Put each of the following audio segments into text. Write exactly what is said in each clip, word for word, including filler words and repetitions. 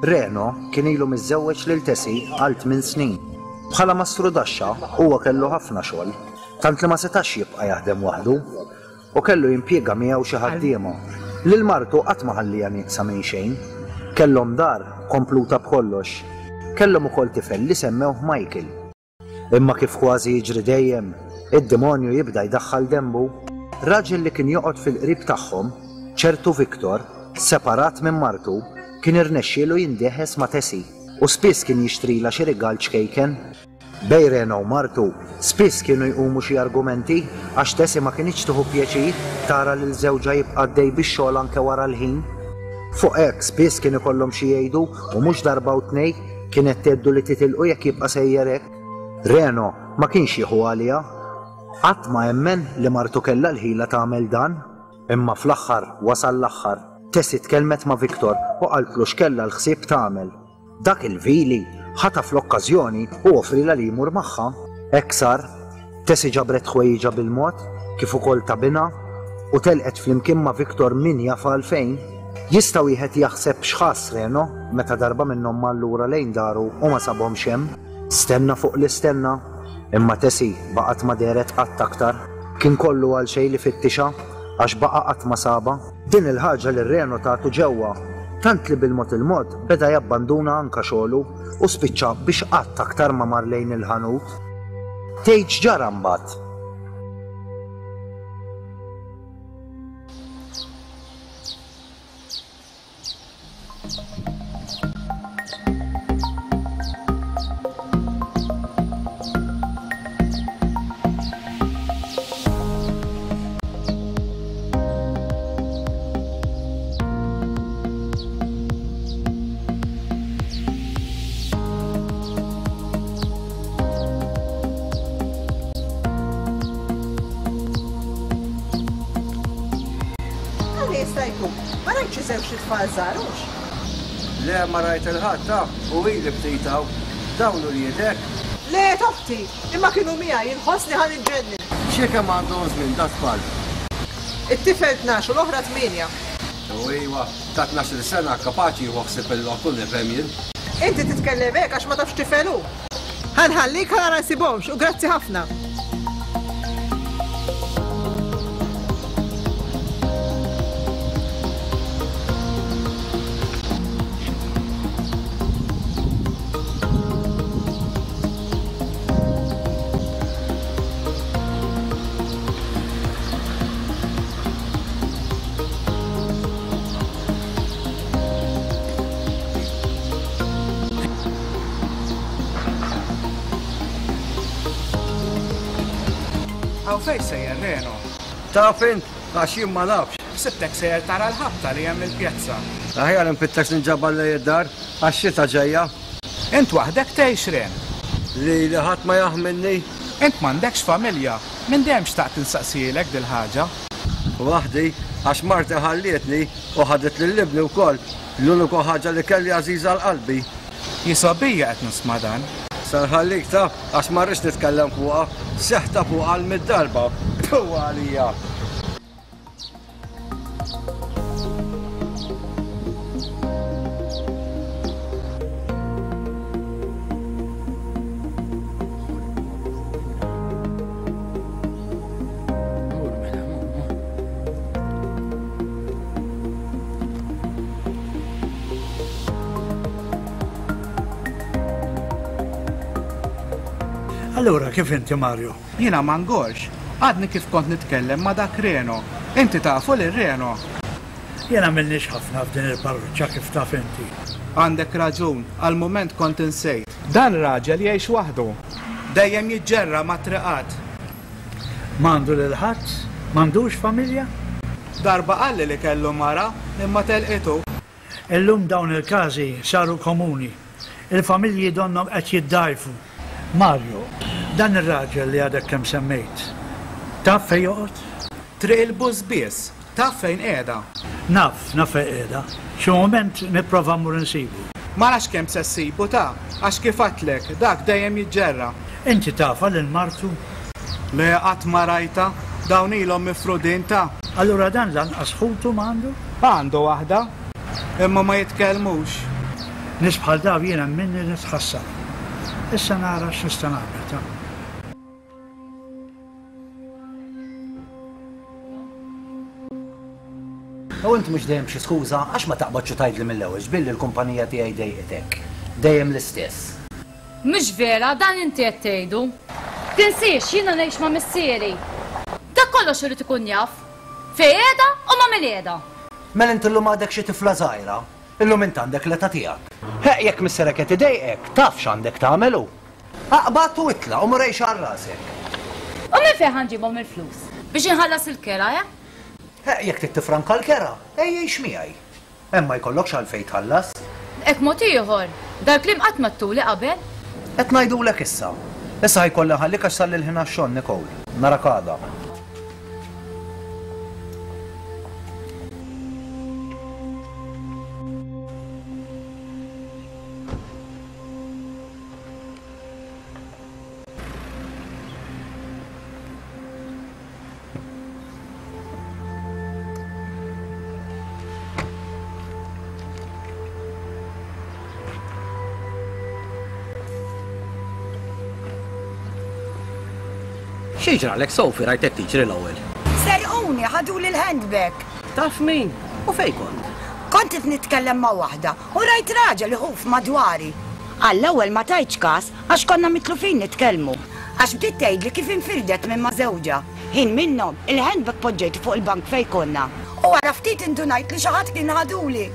Reno kien ilu miżżewweġ lil Tessie għal tmien snin. Bħala mastrudaxxa huwa kellu ħafna xogħol, tant li ma setax jibqa' jaħdem waħdu u kellu jimpjega miegħu xi ħaddiema. Lil martu qatt ma ħalliha nieqsa minn xejn. Kellhom dar kompluta b'kollox. Kellhom ukoll tifel li semmewh Michael. Imma kif kważi jiġri dejjem, id-demonju jibda jdaħħal denbu. Raġel li kien joqgħod fil-qrib tagħhom, ċertu Victor, separat minn martu, kien irnexxielu jindeħes ma' Tessie u spiss kien jixtrila xi rigal ċkejken. Bejn Reno u martu spiss kienu jqumu xi argumenti għax Tessie ma kinitx tieħu pjaċir tara lil żewġha jibqa' għaddej bix-xogħol anke wara l-ħin. Fuq hekk spiss kien ikollhom xi jgħidu u mhux darba u tnejn kienet tgħeddu li titilqu jekk jibqa' sejjer hekk. Reno ma kienx jieħu għaliha. Qatt ma emmen li martu kellha l-ħila tagħmel dan. Imma fl-aħħar wasal l-aħħar. Tessie tkellmet ma' Victor u qaltlu x'kellha l-ħsieb tagħmel. Dak il-vili ħataf l-okkażjoni u offrilha li jmur magħha. Hekk sar, Tessie ġabret ħwejjiġha bil-mod kif ukoll ta' binha u telqet flimkien ma' Victor min jaf għalfejn. Jista' wieħed jaħseb x'ħass Reno meta darba minnhom mar lura lejn daru u ma sabhomx hemm. Stenna fuq l-istenna, imma Tessie baqgħet ma dehret qatt aktar. Kien kollu għal xejn li fittixha għax baqa' qatt ma sabha. Din il-ħaġa li Reno tagħtu ġewwa, tant li bil-mod il-mod beda jabbanduna anka xogħlu u spiċċa biex qatt aktar ma mar lejn il-ħanut. Tgħid x'ġara mbagħad? Għalli jista' jkun, ma rajtx xi żewġt itfal żgħar hux? Le ma rajt il-ħadd ta' u ili ftit hawn. Dawn uliedek? Le toħti, imma kienu miegħi inħossni ħa niġġennen. Xi kemm għandhom żmien da tfal? It-tifel tnax u l-oħra tmienja. U iwa, ta' tnax-il sena kapaċi jieħu ħsieb il-lottu nifhem jien. Inti titkellem hekk għax ma tafx tifel hu. Ħa nħallik ħa nara nsibhomx u grazzi ħafna. Hawn fejn sejjer Reno? Taf int, għax jien ma nafx. Ħsibtek sejjer tara l-ħabta li hemm il-pjazza. Aħjar nfittex ninġabar lejn id-dar, għax xita ġejja. Int waħdek tgħix Ren? Li li ħadd ma jaħmilni. Int m'għandekx familja, minn dejjem xtaqt insaqsielek dil-ħaġa. Waħdi, għax marti ħallietni u ħadet lil ibni wkoll, l-uniku ħaġa li kelli għażiża għal qalbi. Jisobija qed nisma' dan. Se nħallik ta' għax ma rridx nitkellem fuqha, seħta fuqha għal mitt darba. Puh għalija! Allura, kif inti, Mario? Jiena ma ngorx. Għadni kif kont nitkellem ma' dak Reno. Inti tafu lil Reno? Jiena m'ilniex ħafna f'din il-parroċċa kif taf inti. Għandek raġun, għal mument kont insejt. Dan raġel jgħix waħdu. Dejjem jiġġerra mat-triqat. M'għandu lil ħadd? M'għandux familja? Darba qalli li kellu mara, imma telqitu. Illum dawn il-każi saru komuni. Il-familji donnhom qed jiddgħajfu. Mario, dan ir-raġel li għadek kemm semmejt, taf fejn joqgħod? Triq il-Bużbież, taf fejn qiegħda? Naf, naf fejn qiegħda. Xi mument nipprova mmur insibu. Ma nafx kemm se ssibu ta, għax kif għedtlek, dak dejjem jiġġerra. Inti tafha lil martu? Le, qatt ma rajtha, dawn ilhom mifrudin ta. Allura dan lanqas ħutu m'għandu? Għandu waħda, imma ma jitkellmux. Nies bħal daw jiena minni nitħassar. Issa nara x'nista' nagħmel ta'. U int mhux dejjem xi skuża għax ma taqbadx u tgħidli mill-ewwel x'billi l-kumpanija tiegħi dejqitek. Dejjem l-istess. Mhux vera, dan inti qed tgħidu. Tinsiex jiena ngħix ma' missieri. Dak kollox irid ikun jaf. Fejn qiegħda u ma' min qiegħda. Mela int illum għadek xi tifla żgħira. Illum int għandek l-età tiegħek. Heq jekk missierek qed idejqek, taf x'għandek tagħmel hu. Aqbad u itlaq u mur għix għal rasek. U minn fejn ħa nġibhom il-flus? Biex inħallas il-kera, eh? Heq jekk trid tifranka l-kera, ejja għix miegħi. Hemm ma jkollokx għalfejn tħallas. Hekk mod ieħor, dal-kliem qatt ma ttuli qabel. Qed ngħidulek issa. Issa ħajkolli nħallik għax sal il-ħin għax-xogħol, Nicole. Narak għada. X'jiġralek, Sophie, rajtek tiġri l-ewwel? Serquni, ħaduli l-handbag. Taf min? U fejn kont? Kont qed nitkellem ma' waħda u rajt raġel iħuf madwari. Għall-ewwel ma tajtx każ għax konna mitlufin nitkellmu. Għax bdiet tgħidli kif infirdet minn ma' żewġha. Ħin minnhom il-handbag poġġejtu fuq il-bank fejn konna. U wara ftit indunajt li xi ħadd kien ħaduli.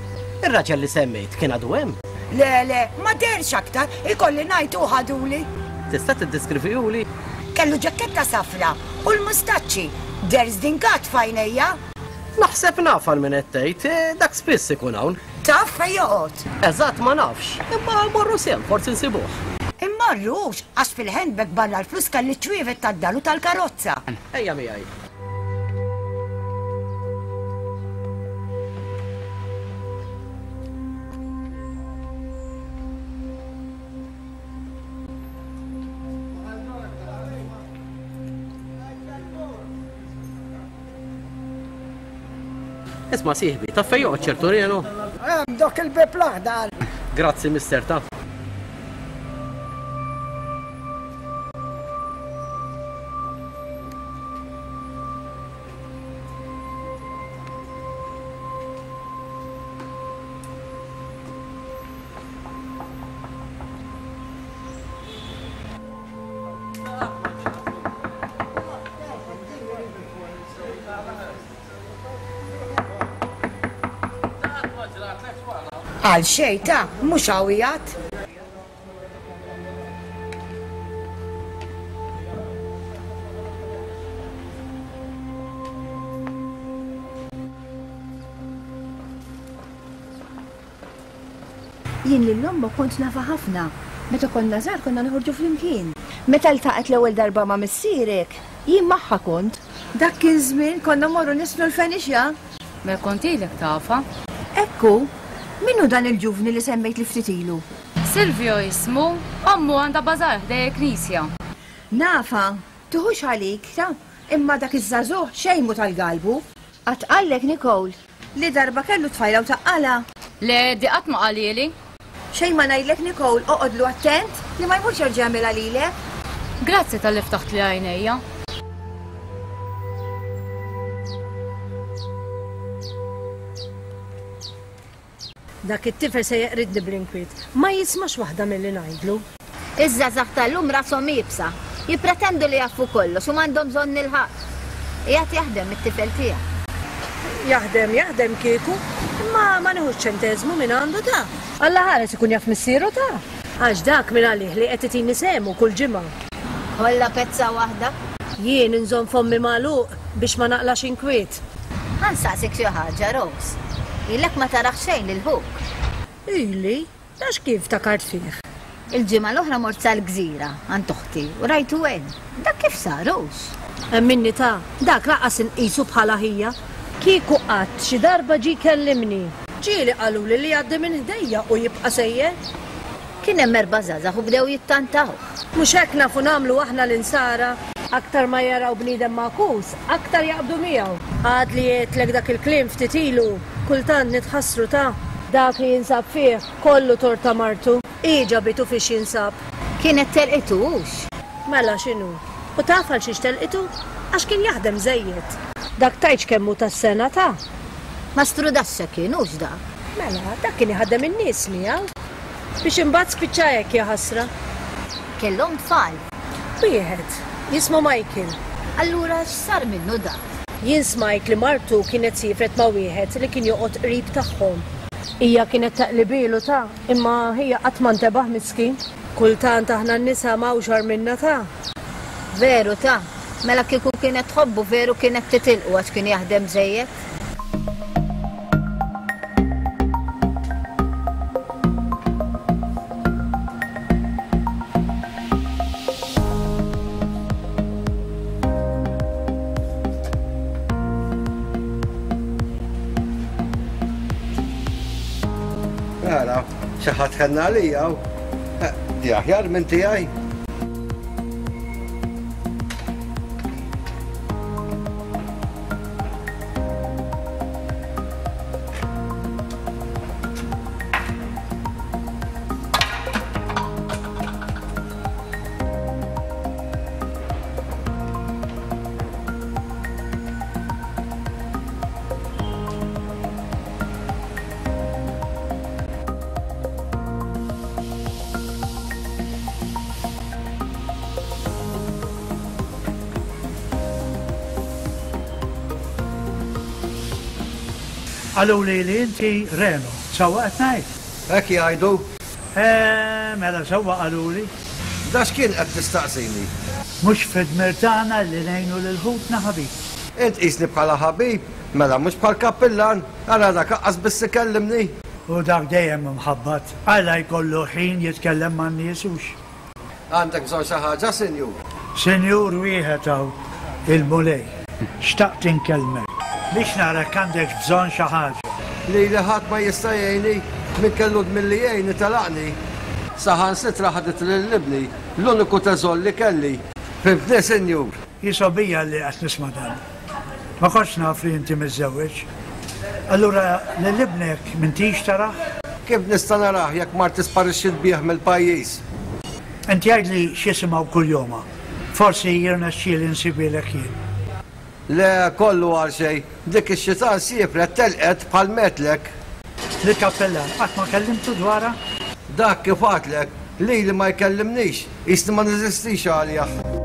Ir-raġel li semmejt kien għadu hemm? Le, le, ma dehrx aktar, ikolli ngħid hu ħaduli. Tista' tiddeskrivihuli? Kellu ġaketta safra u l-mustaċċi, deher żdingat f'għajnejja. Naħseb naf għal min qed tgħid, dak spiss ikun hawn. Taf fejn joqgħod? Eżatt ma nafx, imma mmorru sehem forsi nsibuh. Immorrux, għax fil-handbag barra l-flus kelli ċ-ċwievet tad-dar u tal-karozza. Ejja miegħi. Isma' sieħbi, taf fejn joqgħod ċertu Reno? Hemm dak il-bib l-aħdar. Grazzi, mister, taf. Għal xejn ta' mhux hawn. Jien lil ommok kont nafa ħafna. Meta konna żgħar konna noħorġu flimkien. Meta ltaqgħet l-ewwel darba ma' missierek, jien magħha kont. Dak kien żmien konna morru nisnu l-fenixja. Mela kont ilek tafa. Ekku, min hu dan il-ġuvni li semmejt li ftit ilu? Silvio jismu, ommu għandha bażar ħdej il-knisja. Nafa, tuħux għalik, ta' imma dak iż-żagħżugħ xejn mhu tal-galbu. Qatt qallek Nicole li darba kellu tfajla u taqqala. Le, di qatt ma qalili. Xejn ma ngħidlek Nicole, oqgħodlu attent li ma jmurx jerġa' jagħmilha lilek. Grazzi tal-li ftaħt li għajnejja. Dak it-tifel se jeqridni bl-inkwiet, ma jismax waħda milli ngħidlu. Iż-żgħażagħ tal-lum rashom iebsa, jippretendu li jafu kollox u m'għandhom bżonn il-ħadd. Qiegħed jaħdem it-tifel tiegħek. Jaħdem, jaħdem kieku, imma ma nieħux ċenteżmu minn għandu ta'. Alla ħares ikun jaf missieru ta'. Għax dak minn għalih li qed itini sehmu kull ġimgħa. Kollha pezza waħda. Jien inżomm fommi magħluq biex ma naqlax inkwiet. Ħa nsaqsik xi ħaġa, Rose. Ilek ma tarax xejn lil ħuk. Ili, għax kif takart fih? Il-ġimgħa l-oħra mort sal-gżira għand oħti u rajtu hemm. Dak kif sarux? Emminni ta' dak laqas inqisu bħala ħija. Kieku qatt xi darba ġie kellimni. Ġieli qaluli li jgħaddi minn ħdejja u jibqa' sejjer. Kien hemm erba' żgħażagħ u bdew jittantaw. Mhux hekk nafu nagħmlu aħna l-insara. Aktar ma jaraw bniedem magħkus, aktar jaqbdu miegħu. Għad li għedtlek dak il-kliem ftit ilu, kultant nitħassru ta'. Dak li jinsab fih kollu torta martu. Hi ġabitu fiex jinsab. Kienet telqitu hux. Mela x'inhu? U taf għal xiex telqitu? Għax kien jaħdem żejjed. Dak tgħidx kemm hu tas-sena ta'. Mastru Daxxa kien hux dak. Mela, dak kien iħaddem in-nies miegħu. Biex imbagħad spiċċa hekk ja ħasra. Kellhom tfal. Wieħed, jismu Michael. Allura x'sar minnu dak? Jien smajt li martu kienet siefret ma' wieħed li kien joqgħod qrib tagħhom. Hija kienet taqlibilu ta' imma hija qatt ma ntebaħ miskin. Kultant aħna n-nisa m'hawnx agħar minna ta'. Veru ta', mela kieku kienet tħobbu veru kienet titilqu għax kien jaħdem żejjed. Ara, xi ħadd ħenna għalija hawn. Di aħjar minn tiegħi. Qaluli li inti Reno, sewwa qed ngħid? Hekk jgħidu. Eh, mela sewwa qaluli. Da x'kien qed tistaqsini? Mhux fid-dmir tagħna li ngħinu lil ħutna ħabib. Int qisni bħala ħabib, mela mhux bħal kappillan, ara dak aqqas biss ikellimni. U dak dejjem imħabbat, għala jkollu ħin jitkellem man-nies hux. Għandek bżonn xi ħaġa, sinjur? Sinjur wieħed hawn, il-Mulej. Xtaqt inkellmek biex nara għandek bżonn xi ħaġa. Lili ħadd ma jista' jgħinni, min kellu dmir li jgħinni telaqni. Saħansitra ħadet lil ibni, l-uniku teżor li kelli. Fimtni, sinjur? Jisobija li qed nisma' dan. Ma kontx naf li inti miżżewweġ. Allura lil ibnek m'intix tarah? Kif nista' narah jekk marti sparixxiet bih mill-pajjiż? Inti għidli x'jisimgħu kuljoma. Forsi jirnexxieli nsibilek jien. Le, kollu għal xejn. Dik ix-xitan siefret telqet bħal metlek. Lill-kappellan qatt ma kellimtu dwarha? Dak kif għadlek, lili ma jkellimnix, qisni ma neżistix għalih.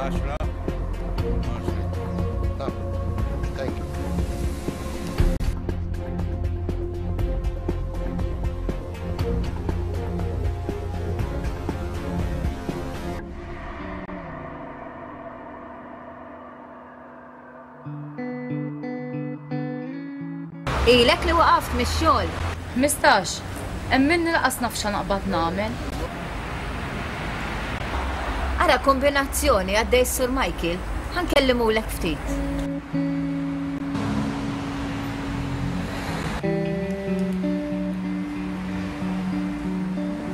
Għaxra. Thank you. Ilek li waqaft mix-xogħol. Mistax, emminni laqas naf x'naqbad nagħmel. Ara kombinazzjoni għaddej Sur Michael, ħankellimulek ftit.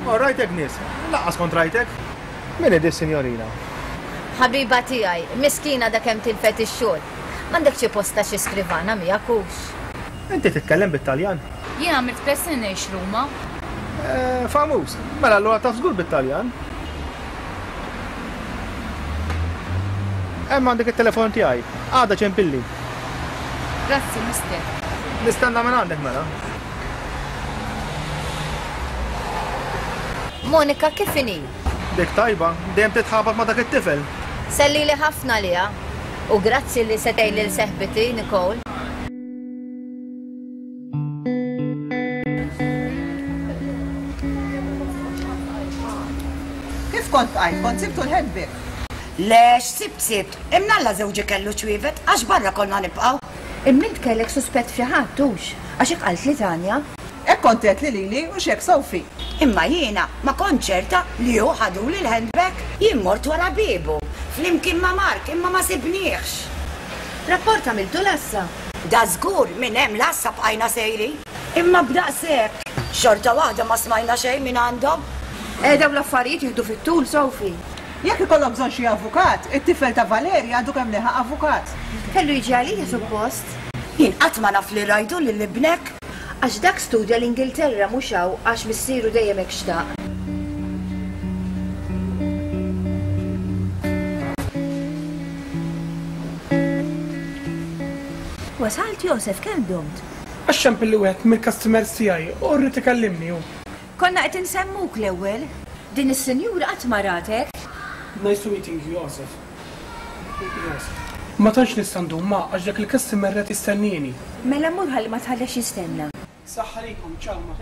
Oh, rajtek nies, laqas kont rajtek. Min hi dis-sinjorina? Ħabiba tiegħi, miskina da kemm tilfet ix-xogħol. M'għandek xi posta xi skrivana miegħek hux. Inti titkellem bit-Taljan? Jien għamilt tliet snin ngħix Ruma. Eh, famuż. Mela allura taf żgur bit-Taljan. Hemm għandek it-telefon tiegħi. Għada ċempilli. Grazzi, mister. Nistenna minn għandek mela. Monika, kif inhi? Dik tajba, dejjem titħabat ma' dak it-tifel. Sellili ħafna liha. U grazzi li setej lil seħbiti, Nicole. Kif kont bqajt, kont sibtu l-handbag? Lex, sibt sibt, imnalla żewġi kellu ċwievet, għax barra konna nibqgħu. Imma int kellek suspett fi ħadd hux, għax hekk qalt li Tanja. Hekk kont għedt li lili u x'hekk Sophie. Imma jiena ma kont ċerta li hu ħaduli l-handbag, jien mort wara biebu, flimkien ma' Mark, imma ma sibniex. Rapport għamiltu l-assa? Da żgur minn hemm l-assa bqajna sejri. Imma b'daqshekk, xorta waħda ma smajna xejn minn għandhom. Eh, dawn l-affarijiet jieħdu fit-tul, Sophie. Jekk ikollhom bżonn xi avukat, it-tifel ta' Valerja għandu kemm leħaq avukat. Kellu jiġi għalija suppost. Jien qatt ma naf li rajtu lil ibnek. Għax dak studja l-Ingilterra mhux hawn għax missieru dejjem hekk xtaq. Wasalt Josef, kemm domt? Għax ċempilli wieħed mill-customers tiegħi u rrid ikellimni hu. Konna qed insemmuk l-ewwel. Din is-sinjura qatt ma ratek. Nice to meeting you, Josef. Josef. Ma tantx nista' ndum ma għax dak il-customer qed jistennini. Mela mur ħalli ma tħallex jistenna. Saħħa likom, ciao ma.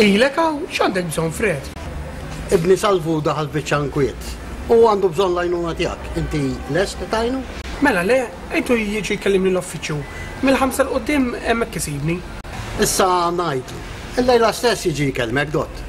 Ilek hawn, x'għandek bżonn Fred? Ibni Salvu daħal biċċa nkwiet. U għandu bżonn l-għajnuna tiegħek. Inti lest tajnu? Mela le, għidu jiġi jkellimni l-uffiċċju. Mill-ħamsa 'l quddiem hemmhekk isibni. Issa ngħidlu. Illejla stess jiġi jkellmek, dott.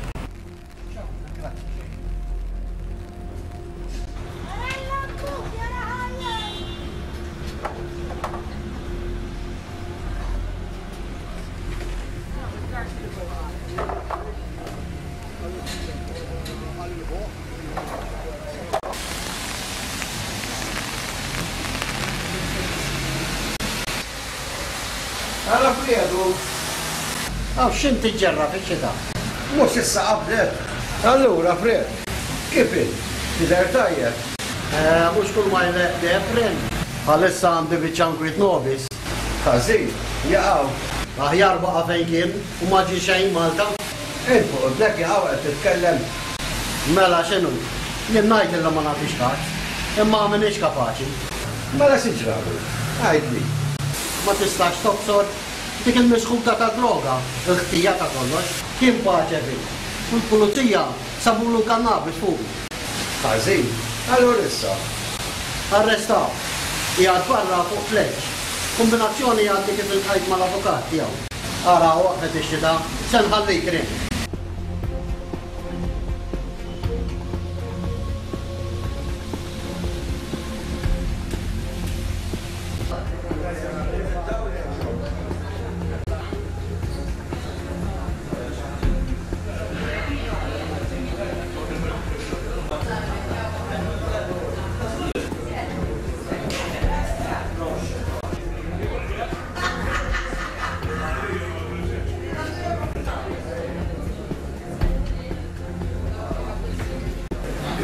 Għala Fredu. Għaw x'int tiġġerra fix-xita? Mhux issa qabdet. Allura Fred, kif int? Tidher tajjeb? Eh, mhux kull ma jleq deheb friend. Bħalissa għandi biċċa nkwiet nobis. Ħażin, jaqgħu. Aħjar baqa' fejn kien u ma ġie xejn Malta. Int fuq ibnek jaqgħu qed titkellem. Mela x'inhu? Jien ngħid illa ma nagħtix każ, imma m'iniex kapaċi. Mela xi ġralu? Għidli. Ma tistax tobsor dik il-misħuta ta' droga, il-ħtija ta' kollox, kien paċe fi. U l-pulizija sabulu l-kannabis fuq. Ħażin, allura issa. Arrestaw, qiegħed barra fuq pleġġ. Kombinazzjoni għaddi kif iltqajt mal-avukat tiegħu. Ara waqfet ix-xita, se nħallik rin.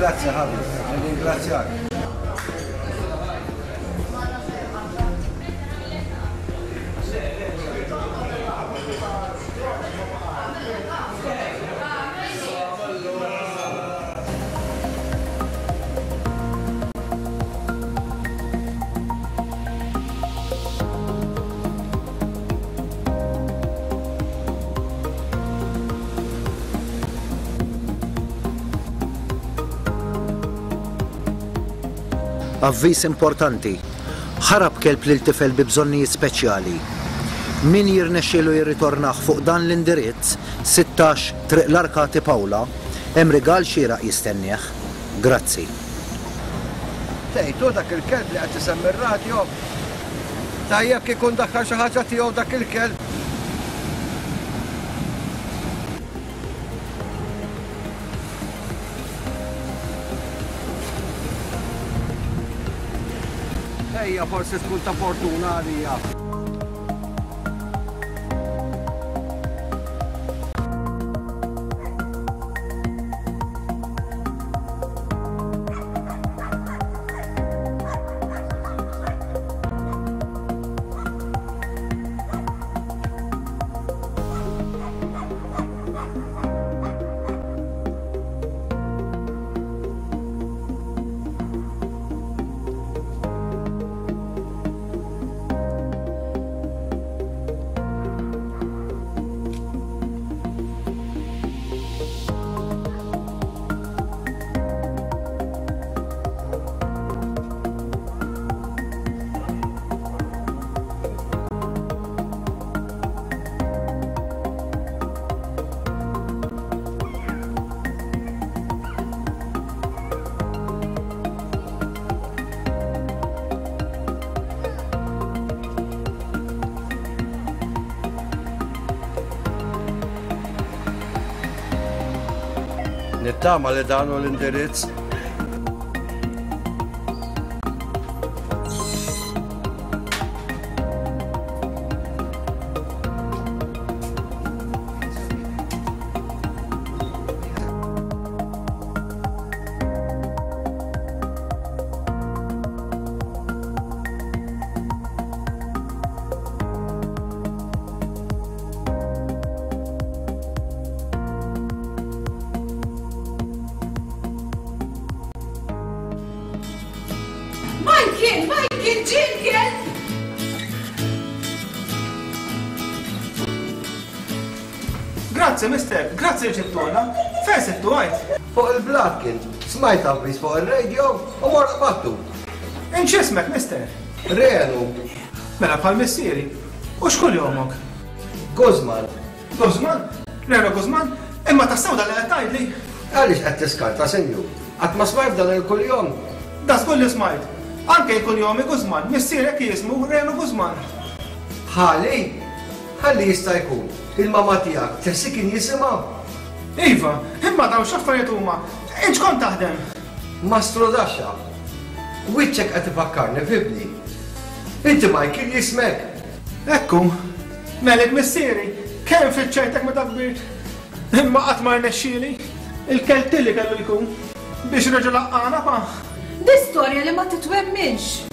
Grazie ħabib, ringrazzjak. Avviż importanti. Ħarab kelb lil tifel bi bżonnijiet speċjali. Min jirnexxielu jirritornah fuq dan l-indirizz, sittax Triq l-Arkati Pawla, hemm rigal xieraq jistennieh. Grazzi. Tgħid hu dak il-kelb li qed isemmi r-radjo? Tajjeb kieku ndaħħal xi ħaġa tiegħu dak il-kelb. Ejja forsi tkun ta' fortuna għalija. Nittama li dan hu l-indirizz. Michael, Michael, ġie l-kelb! Grazzi, mister, grazzi li ġibtulna. Fejn sibtu għajt? Fuq il-blat kien, smajt avviż fuq ir-radio u mort qbadtu. Int x'ismek, mister? Renu. Mela bħal missieri. U x'kull jomok? Guzman. Guzman? Reno Guzman? Imma tassew dan li qed tgħidli? Għaliex qed tiskarta, sinjur? Qatt ma smajt dan il-kuljom? Da żgur li smajt. Anke jkun jomi Guzman, missierek jismu Reno Guzman. Ħali? Ħalli jista' jkun. Il-mama tiegħek Tessie kien jisimha? Iva, imma dawn x'affarijiet huma? Int x'kont taħdem? Mastru Daxxa. Wiċċek qed ifakkarni f'ibni. Inti Michael jismek. Ekku, melek missieri, kemm fiċċajtek meta kbirt. Imma qatt ma rnexxieli. Il-keltilli kellu jkun biex reġa' laqqana pa. Di storja li ma titwemminx.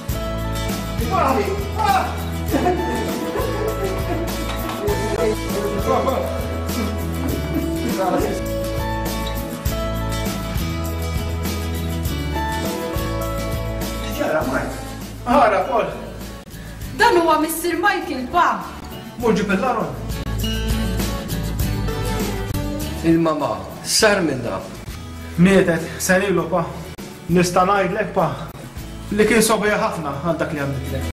Ġara, Mike. Ara, Paul. Dan huwa Missier Michael, pa. Mur ġib il-Laron. Il-mama, sar minna. Mietet, sarilu, pa. Nista' ngħidlek, pa, li kien sobija ħafna għal dak li għamlitlek.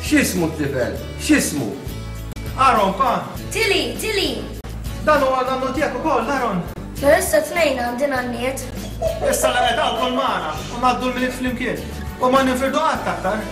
X'ismu t-tifel? X'ismu? Aaron, pa. Tilly, Tilly. Dan huwa nannu tiegħek ukoll, Aaron. Però issa tnejn għandi nanniet. Issa la qed wkoll magħna u ngħaddu l-milied flimkien u ma ninfirdu qatt aktar.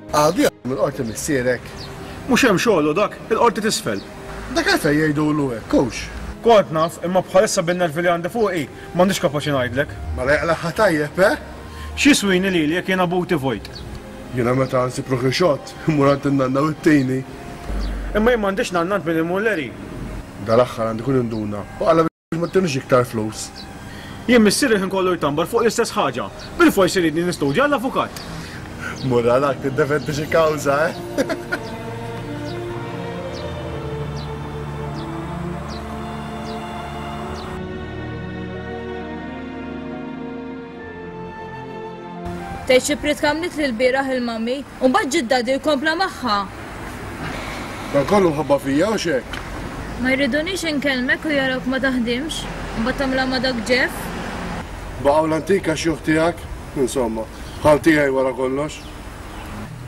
Għadu jaħdem il-qorti missierek. Mhux hemm xogħlu dak, il-qorti t'isfel. Dak għalfejn jgħidulu hekk, hux? Kont naf, imma bħalissa bin-nervi li għandi fuqi, m'għandix kapaċi ngħidlek. Mela jaqlagħha tajjeb, eh? X'jiswini lili jekk jiena buti vojt? Jiena meta nsib ruħi xott, immur għand in-nanna u t-tini. Imma jien m'għandix nanna għand min imur Larry. Dal-aħħar għandi kun induna u qala biex ma ttinix iktar flus. Jien missieri l-ħin kollu jtambar fuq l-istess ħaġa. Bilfors iridni nistudja għall-avukat. Mur għalak tiddefendi xi kawża, eh? Tgħid xi pritka għamlitli l-bieraħ il-mami u mbagħad ġie d-dadi u kompla magħha. Dan kollu mħabba fija u x'hekk? Ma jridunix inkellmek u jarawk ma taħdimx, u mbagħad tagħmilha ma' dak Jeff. Baqgħu l-antika xjuħ tiegħek, insomma, bħal tiegħi wara kollox.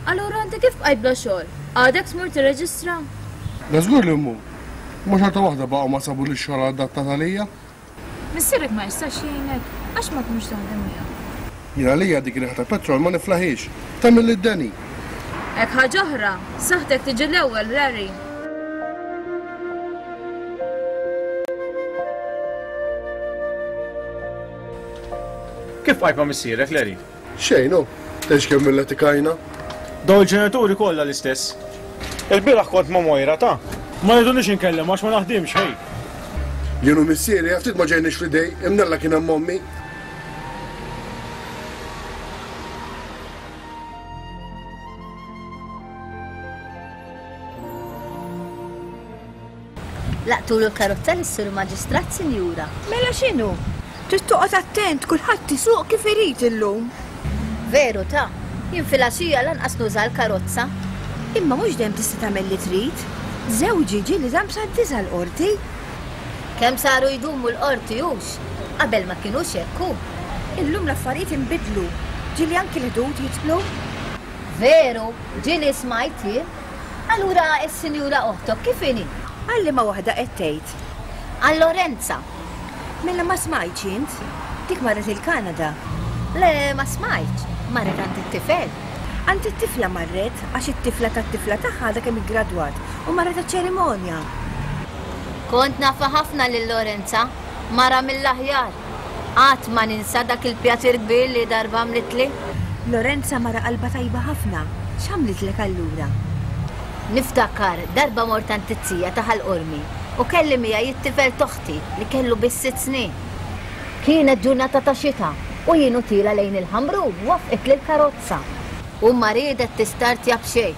Allura inti kif bqajt bla xogħol? Għadek tmur tirreġistra? Da żgur li mmur. Imma xorta waħda baqgħu ma sabulix xogħol adattat għalija. Missierek ma jistax jgħinek għax ma tmurx taħdem miegħu. Jien għalija dik riħa ta' petrol ma niflaħiex. Tagħmel id-deni. Hekk ħaġa oħra, saħħtek tiġi l-ewwel, Larry. Kif bqajt ma' missierek, Larry? Xejn, hu. Tgħidx kemm illetikajna. Dawn il-ġenituri kollha l-istess. Il-bieraħ kont ma' Moira ta'. Ma jridunix inkellem għax ma naħdimx, ħej. Jien u missieri ftit ma ġejniex f'idej, imnalla kien hemm ommi. Laqtulu l-karozza lis-sur maġistrat, sinjura. Mela x'inhu? Trid toqgħod attent, kulħadd isuq kif irid illum. Veru ta', jien filgħaxija lanqas nuża l-karozza. Imma mhux dejjem tista' tagħmel li trid. Żewġi ġieli dam sa disa' l-qorti. Kemm saru jdumu l-qorti hux? Qabel ma kinux hekk hu. Illum l-affarijiet inbidlu. Ġieli anki l-ħdud jidħlu. Veru, ġieli smajt jien. Allura s-sinjura oħtok kif inhi? Għal liema waħda qed tgħid? Għal Lorenza. Mela ma smajtx int? Dik marret il-Kanada. Le, ma smajtx. Marret għand it-tifel. Għand it-tifla marret għax it-tifla tat-tifla tagħha għadha kemm iggradwat u marret għaċ-ċerimonja. Kont nafha ħafna lil Lorenza, mara mill-aħjar. Qatt ma ninsa dak il-pjaċir kbir li darba għamlitli. Lorenza mara qalbha tajba ħafna. X'għamlitlek allura? Niftakar darba mort għand it-tija ta' Ħal Qormi u kelli miegħi it-tifel t'oħti li kellu biss sitt snin. Kienet ġurnata ta' xita u jien u tiela lejn il-Ħamrun wafqitli l-karozza u ma riedet tistartja b'xejn.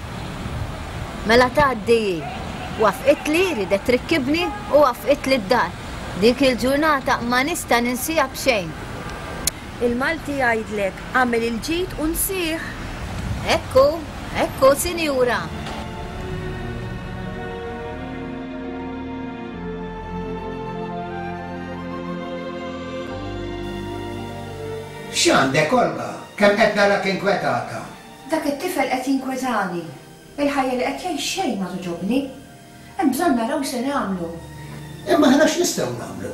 Mela tgħaddi hi. Wafqitli, riedet trikkibni u wafqitli d-dar. Dik il-ġurnata ma nista' ninsiha b'xejn. Il-Malti jgħidlek agħmel il-ġid u nsih. Ekku, ekku, sinjura. X'għandek, Olga? Kemm qed narak inkwetata? Dak it-tifel qed jinkwetani. Il-ħajja li qed jgħix xejn ma togħġobni. Hemm bżonn naraw se nagħmlu. Imma aħna x'nistgħu nagħmlu?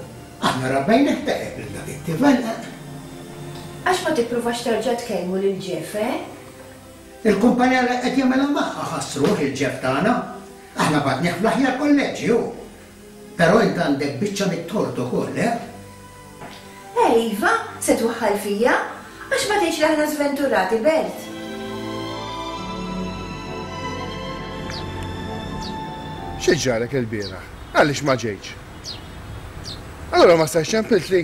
Aħna rabbejnih tajjeb lil dak it-tifel. Għax ma tippruvax terġa' tkellmu lil Jeff, eh? Il-kumpanija li qed jagħmilha magħha ħassruh il-Jeff tagħna. Aħna bagħtnieh fl-aħjar kolleġġi hu. Però int għandek biċċa mit-tort ukoll, eh? Iva, se twaħħal fija, għax ma tgħidx li aħna sventurati, Bert. Xi ġarek il-bieraħ? Għaliex ma ġejtx? Allura ma stajtx ċempiltli.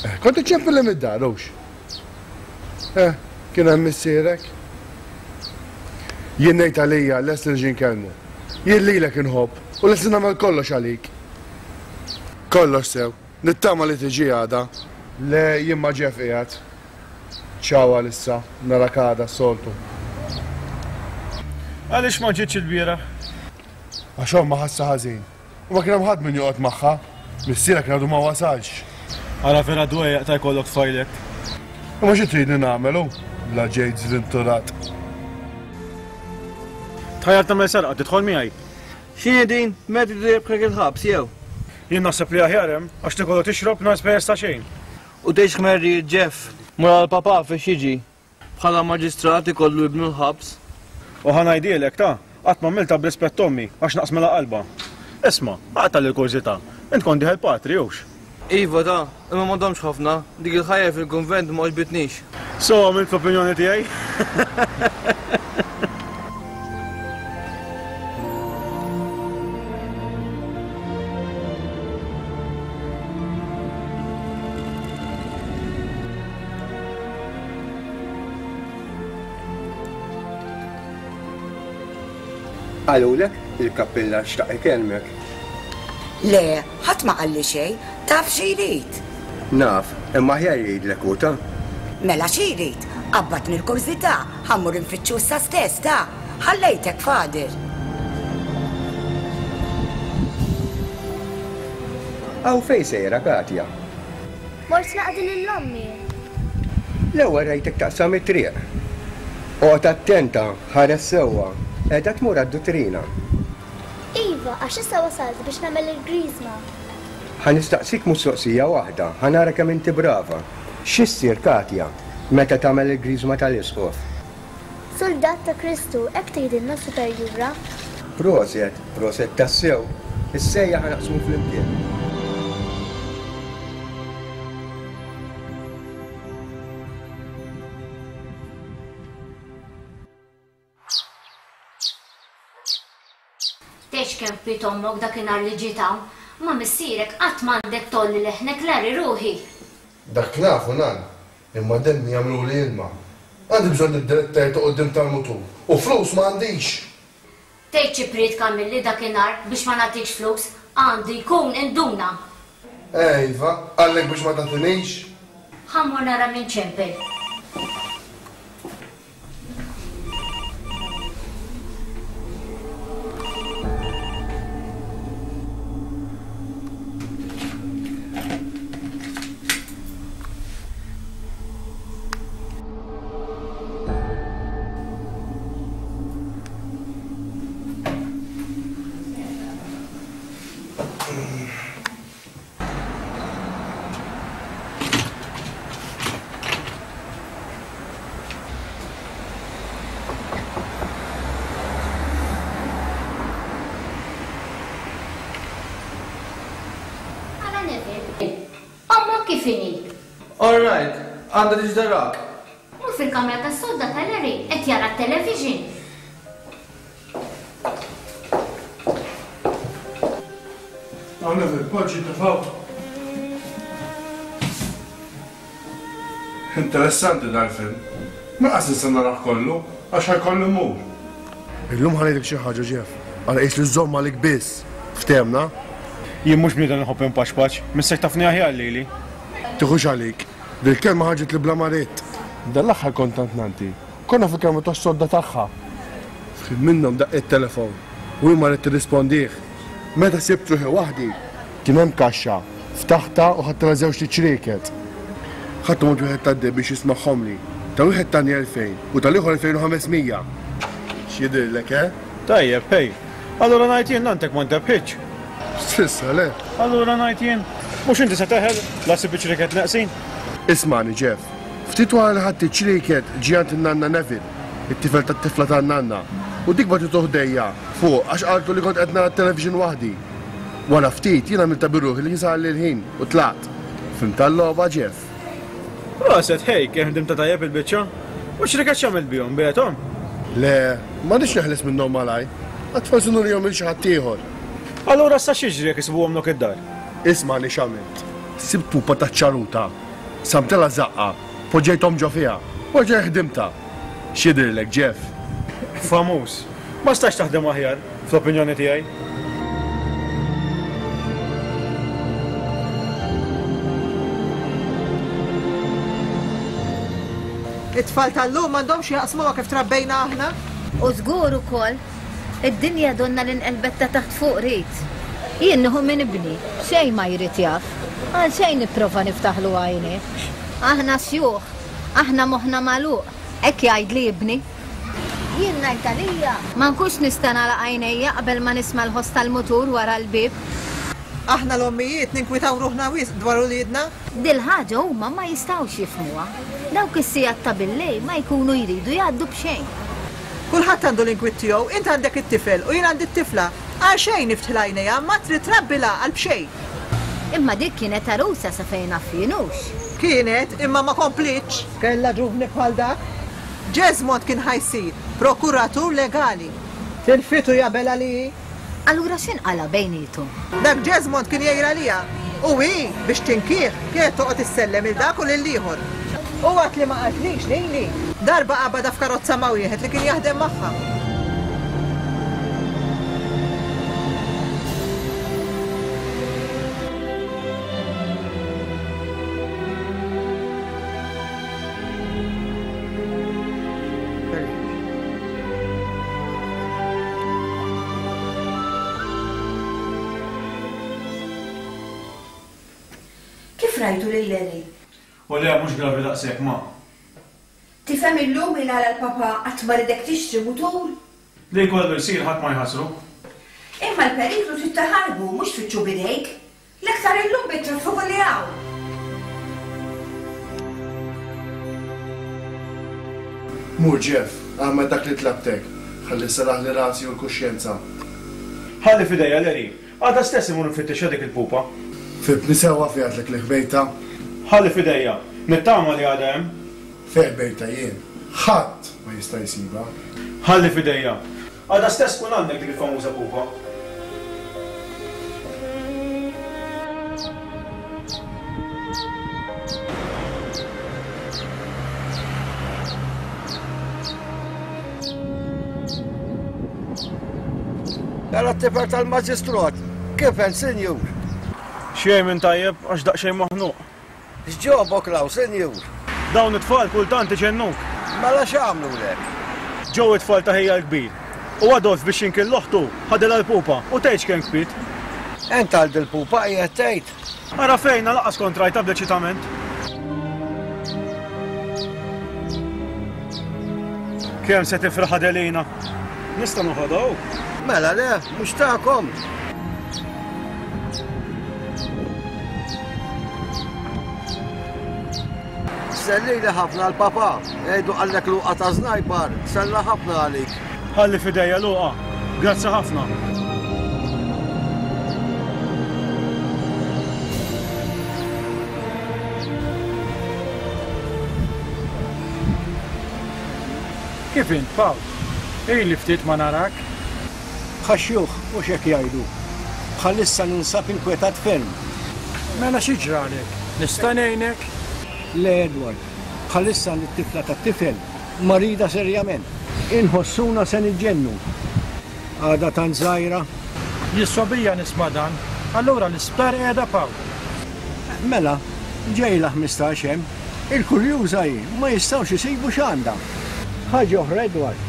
Eh, kont iċċempilli mid-dar, hux? Eh, kien hemm missierek. Jien ngħid għalija lest li niġi nkellmu. Jien lilek inħobb u lest li nagħmel kollox għalik. Kollox sew. Nittama li tiġi għada. Le, jien ma' Jeff qiegħed. Ciao għalissa, narak għada s-soltu. Għaliex ma ġietx il-bieraħ? Għax omma ħassa ħażin. U ma kien hemm ħadd min joqgħod magħha. Missierek kien għadu ma wasalx. Ara vera dwejjaq ta' jkollok tfajlek. Imma xi tridni nagħmel hu? Bla ġejt żventurat. Tħajjar tagħmel serqa tidħol miegħi. X'inhi din? Meta tridu jrebħek il-ħabs jew? Jien naħseb li aħjar hemm għax tikol u tixrob nhar spejjeż ta' xejn. U tgħidx ħmerri Jeff, mur għal papà fiex jiġi. Bħala maġistrat ikollu ibnu l-ħabs. U ħa ngħidilek ta' qatt m'għamiltha b'rispett ommi għax naqsmilha qalbha. Isma', aqta' l-kurżità. Int kont dieħel patri hux? Iva ta, imma ma domx ħafna, dik il-ħajja fil-kunvent ma għoġbitnix. So għamilt fl-opinjoni tiegħi? Qalulek il-kappillan xtaq ikellmek. Le, ħadd ma qalli xejn, taf xi jrid. Naf, imma aħjar jgħidlek hu ta. Mela xi jrid, qabbatni l-kurżità, ħa mmur infittxu issa stess ta. Ħallejtek Fader. Hawn fejn sejra Katja? Mort naqdi lil ommi. L-ewwel rajtek taqsam it-triq. Oqgħod attenta, ħares sewwa. Qiegħda tmur għad-duttrina. Iva, għax issa wasalt biex nagħmel il-griżma. Ħa nistaqsik mistoqsija waħda, ħa nara kemm inti brava. X'issir Katja meta tagħmel il-griżma tal-isqof? Soldat ta' Kristu, hekk tgħidilna superjura. Proset, proset tassew. Is-sejja ħa naqsmu flimkien. Tgħidx kemm bkiet ommok dakinhar li ġiet hawn, ma' missierek qatt m'għandek tgħolli leħnek Larry ruħi. Dak nafu nan, imma demmi jagħmluli ilma. Għandi bżonn nibdel it-tajr ta' quddiem tal-mutur u flus ma għandix. Tgħid xi priedka għamilli dakinhar biex ma nagħtikx flus, għandu jkun induna. Eh iva, qallek biex ma tagħtinix? Ħa mmur nara min ċempel. Ommok kif inhi? All right, għandha tiġi darak. Mur fil-kamra tas-sodda ta' Larry qed jara t-television. Hawn Neville, poġġi tefgħu. Interessanti dal-film. Ma qas nista' narah kollu għax ħajkollu mmur. Illum ħa ngħidlek xi ħaġa Jeff, għal qis li żomm għalik biss. Ftehmna? Jien mhux bniedem nħobb inpaċpaċ, missek tafni aħjar lili. Tiħux għalik, dil-kelma ħarġet li bla ma ridt. Dan l-aħħar kont tant nanti. Konna fil-kamra tas-sodda tagħha. F'ħin minnhom daqq it-telefon u jien ma ridt tirrispondih. Meta sibt ruħi waħdi, kien hemm kaxxa, ftaħtha u ħadtilha żewġ ċrieket. Ħadthom għand wieħed tad-deheb biex jismagħhomli. Ta' wieħed tani elfejn u tal-ieħor elfejn u ħames mija. X'jidhirlek, eh? Tajjeb, hej. Allura ngħid jien nantek ma ntebħitx. S'issa le. Allura ngħid jien, mhux inti se teħel la ssib iċ-ċrieket neqsin? Ismagħni Jeff, ftit wara li ħadt iċ-ċrieket ġie għand in-nanna Neville, it-tifel tat-tifla tan-nanna, u dik bagħtitu ħdejja fuq għax qaltu li kont qed nara t-television waħdi. Wara ftit jien għamiltha bir-ruħi li kien sarli l-ħin u tlaqt. Fhimt għal-logħba Jeff. Proset, hej, kemm ħdimtha tajjeb il-biċċa. U ċ-ċrieket x'għamilt bihom, biegħthom? Le, m'għandix neħles minnhom malajr. Għad forsi nurihom lil xi ħadd ieħor. Allura issa x'jiġri jekk isibuhom nok id-dar? Ismagħni x'għamilt. Sibt pupa taċ-ċaruta, samtilha żaqqa, poġġejthom ġo fiha, u rġajt ħdimtha. X'jidhirlek, Jeff? Famuż. Ma stax taħdem aħjar, fl-opinjoni tiegħi. It-tfal tal-lum m'għandhomx jaqsmu ma' kif trabbejna aħna. U żgur ukoll, id-dinja donna li nqelbet ta' taħt fuq rid. Jien nieħu minn ibni, xejn ma jrid jaf. Għal xejn nipprova niftaħlu għajnih. Aħna xjuħ, aħna moħħna magħluq, hekk jgħidli ibni. Jien ngħid għalija, ma nkunx nista' nagħlaq għajnejja qabel ma nisma' l-ħoss tal-mutur wara l-bieb. Aħna l-ommijiet ninkwitaw ruħna wisq dwar uliedna. Dil-ħaġa huma ma jistgħux jifhmuha. Dawk is-sigħat ta' billejl ma jkunu jridu jgħaddu b'xejn. Kulħadd għandu l-inkwiet tiegħu, int għandek it-tifel u jien għandi t-tifla. Għal xejn niftħilha għajnejha, ma trid trabbi l-għaqal b'xejn. Imma dik kienet għarusa sa fejn naf jien hux. Kienet, imma ma komplitx. Kellha ġuvni bħal dak. Jesmond kien ħa jsir prokuratur legali. Tilfitu jabel għalih. Allura x'inqala' bejniethom? Dak Jesmond kien jgħir għaliha. U hi, biex tinkih, kienet toqgħod issellem 'il dak u lill-ieħor. U għad li ma qaltlix lili, darba qabadha f'karozza ma' wieħed li kien jaħdem magħha. Kif rajtu lil Larry? U le, mhux gravi daqshekk, ma. Tifhem illum il għala l-papa qatt ma ridek tixtri mutur? Li jkollu jsir ħadd ma jħassru. Imma l-periklu trid taħarbu mhux tfittxu b'idejk. L-aktar illum bit-traffiku li hawn. Mur Jeff, agħmel dak li tlabtek. Ħalli seraħli rasi u l-kuxjenza. Ħalli f'idejja Larry. Għada stess imur nfittixha dik il-pupa. Fibni sewwa fi għadlek li ħbejta. Ħalli f'idejja. Nittama li għadha hemm. Fejn ħbejta jien. Ħadd ma jista' jsibha. Ħalli f'idejja. Għada stess tkun għandek dik il-famuża pupa. Mela t-tifel tal-maġistrot, kif hemm, sinjur? Xejn minn tajjeb għax daqsxejn maħnuq. X'ġobok law, sinjur? Dawn it-tfal kultant iġennuk. Mela x'għamlulek? Ġew it-tfal ta' ħija l-kbir. U Adolf biex jinkil l-oħtu ħadilha l-pupa u tgħidx kemm kbiet. Ent għal dil-pupa qiegħed tgħid? Ara fejna laqas kont rajtha bl-eċitament. Kemm se tifraħ Adelina? Nista' noħodha hu? Mela le, mhux tagħkom. Sellili ħafna l-papa, għidu qallek Luqa ta' Znajbar, sella ħafna għalik. Ħalli f'idejja Luqa, grazzi ħafna. Kif int, Pawl? Ili ftit ma narak. Bħax-xjuħ, mhux hekk jgħidu. Bħalissa ninsab inkwetat ferm. Mela xi ġralek? Nista' ngħinek? Le, Edward. Bħalissa lit-tifla tat-tifel marida serjament. Inħossuna se niġġennu. Għadha tant żgħira. Jissobija nisma' dan. Allura l-isptar qiegħda Pawl. Mela, ġejla ħmistax hemm. Il-kurjuża hi, ma jistgħux isibu x'għandha. Ħaġa oħra, Edward.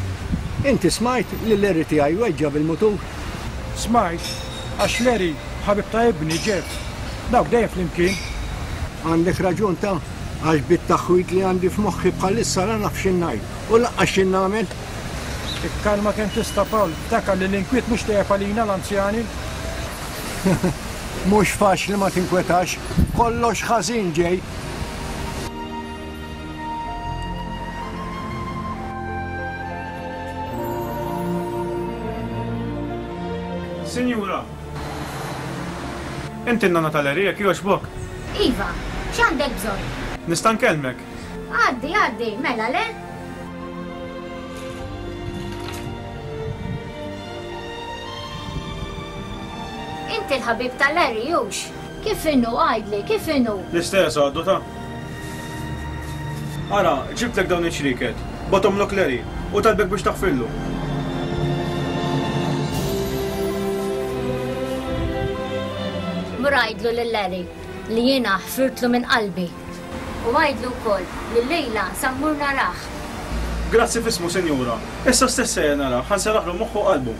Inti smajt li Larry tiegħi weġġa' bil-mutur? Smajt, għax Larry ħabib ta' ibni Jeff. Dawk dejjem flimkien. Għandek raġun ta' għax bit-taħwid li għandi f'moħħi bħalissa la naf x'in ngħid u lanqas x'in nagħmel. Ikkalma kemm tista' Pawl, ftakar li l-inkwiet mhux tajjeb għalina l-anzjani. Mhux faċli ma tinkwetax, kollox ħażin ġej. Sinjura, inti n-nana tal-Larry jekk jogħġbok? Iva, x'għandek bżonn? Nista' nkellmek? Għaddi, għaddi, mela le? Inti l-ħabib ta' Larry, hux? Kif inhu, għidli, kif inhu? L-istess għaddu ta'. Ara, ġibtlek dawn iċ-ċrieket, batomlok Larry u talbek biex taħfillu. Mur għidlu lil Larry li jiena ħfirtlu minn qalbi. U għidlu wkoll li llejla sa mmur narah. Grazzi f'ismu, sinjura. Issa stess sejjer narah, ħa nseraħlu moħħu u qalbu.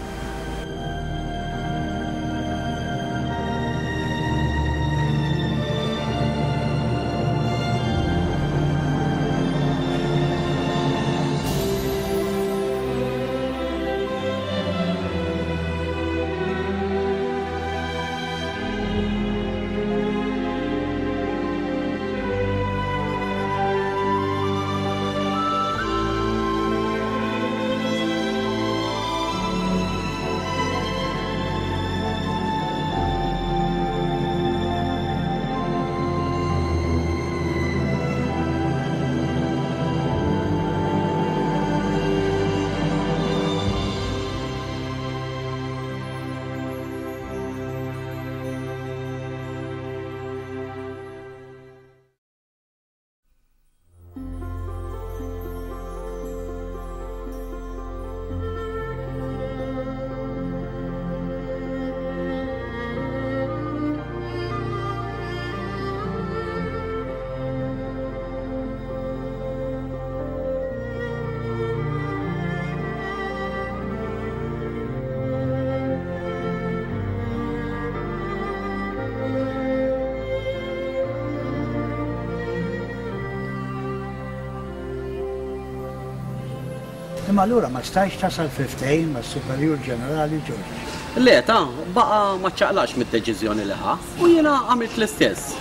Imma allura ma stajtx tasal fi ftehim mas-Superjur Ġenerali George. Le, ta, baqa' ma ċċaqlaqx mid-deċiżjoni li ħa u jiena għamilt l-istess.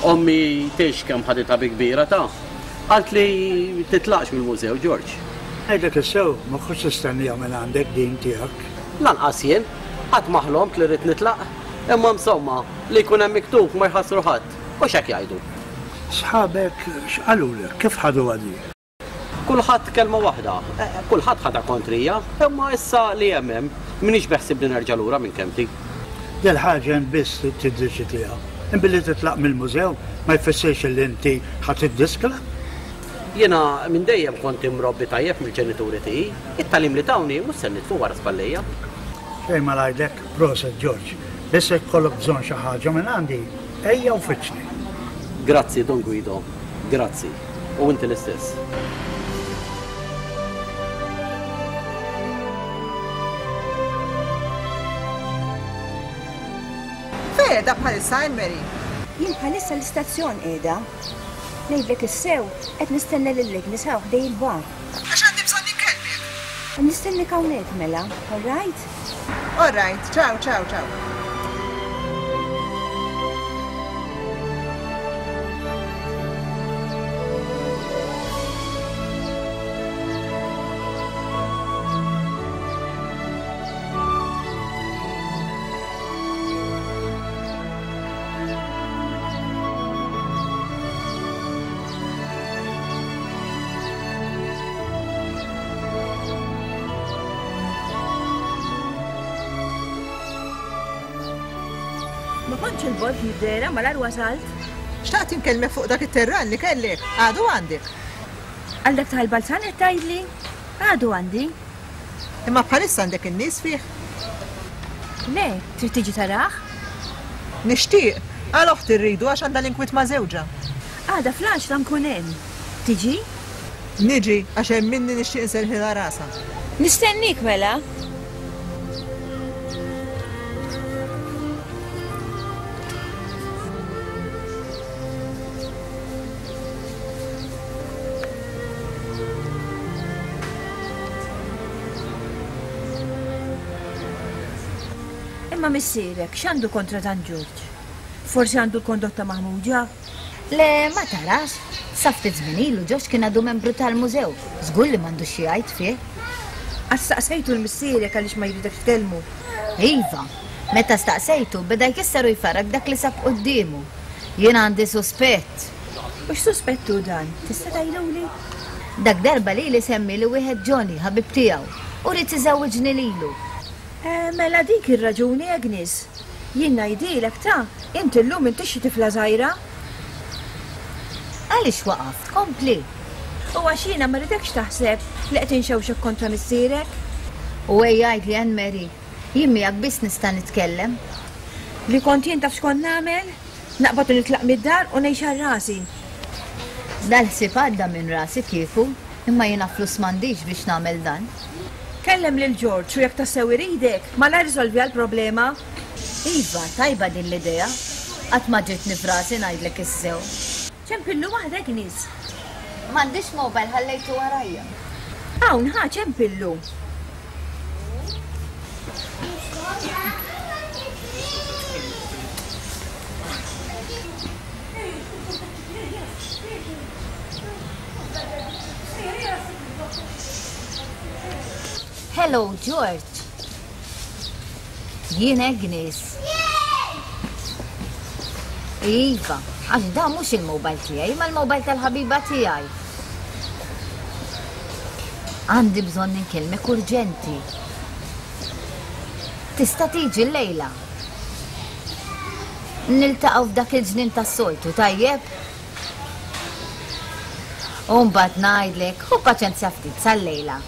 Ommi tgħix kemm ħaditha bi kbira, ta. Qaltli titlaqx mill-mużew, George. Ngħidlek is-sew, ma kontx nistenniha minn għandek din tiegħek. Lanqas jien. Qatt ma ħlomt li rrid nitlaq. Imma insomma, li jkun hemm miktub ma jħassru ħadd. U x'hekk jgħidu. Sħabek x'qalulek? Kif ħaduha din? Kulħadd kelma waħda. Kulħadd ħadha kontrija, imma issa li hemm hemm, m'iniex beħsiebni nerġa' lura minn kelmti. Dil-ħaġa int biss trid tiddeċidiha. Imbilli titlaq mill-mużew ma jfissirx li inti ħa tiddiskla. Jiena minn dejjem kont imrobbi tajjeb mill-ġenituri tiegħi. It-tagħlim li tawni mhux se nitfu wara spallejja. Xejn ma ngħidlek, proset George. Biss jekk ikollok bżonn xi ħaġa minn għandi, ejja u fittxni. Grazzi, Don Guido. Grazzi. U inti l-istess. Fejn qiegħda bħalissa, Anne Marie? Jien bħalissa l-istazzjon qiegħda. Ngħidlek is-sew, qed nistenna lil Agnes hawn ħdej il-bar. Għax għandi bżonn inkellmek. Nistennik hawnhekk mela, all right? All right, ciao, ciao, ciao. Ma kontx il-bogħod mid-dehra, malajr wasalt. Xtaqt inkellmek fuq dak it-terran li kellek, għadu għandek. Għal dak tal-balzan qed tgħidli? Għadu għandi. Imma bħalissa għandek in-nies fih? Le, trid tiġi tarah? Nixtieq, għal oħti rridu għax għandha l-inkwiet ma' żewġha. Għada fl-għaxra nkun hemm. Tiġi? Niġi, għax hemm minni nixtieq inserħilha rasha. Nistennik mela. Imma missierek, x'għandu kontra Dan Ġorġ? Forsi għandu l-kondotta maħmuġa? Le, ma tarax. Sa ftit żmien ilu Ġorġ kien għadu membru tal-mużew. Żgur li m'għandux xi jgħid fih. Għax staqsejtu l-missierek għaliex ma jridekx tkellmu. Iva, meta staqsejtu beda jkisser u jfarrak dak li sab quddiemu. Jien għandi suspett. U x'suspett hu dan? Tista' tgħiduli? Dak darba lili semmi li wieħed Johnny ħabib tiegħu u ried iżewwiġni lilu. Eh, mela dik ir-raġuni, Agnes. Jien ngħidilek ta' inti llum intix xi tifla żgħira. Għaliex waqaft? Kompli. U għax jiena ma ridekx taħseb li qed inxewxek kontra missierek. U ejja għidli Anne Marie, jien miegħek biss nista' nitkellem. Li kont jien taf x'kont nagħmel? Naqbad u nitlaq mid-dar u ngħix għal rasi. Dal-ħsieb għadda minn rasi kieku, imma jiena flus m'għandix biex nagħmel dan. Kellem lil George u jekk tassew iridek, malajr risolvi għall-problema. Iva, tajba din l-idea. Qatt ma ġietni f'rasi ngħidlek is-sew. Ċempillu waħdek nies. M'għandix mobile ħallejtu warajja. Hawn ħa ċempillu. Hello, George. Jien Agnes. Iva, għax da mhux il-mobile tiegħi, ma l-mobile tal-ħabiba tiegħi. Għandi bżonn inkellmek urġenti. Tista' tiġi llejla. Niltaqgħu f'dak il-ġnien tas-soltu, tajjeb? U mbagħad ngħidlek, ħu paċenzja ftit sal-lejla.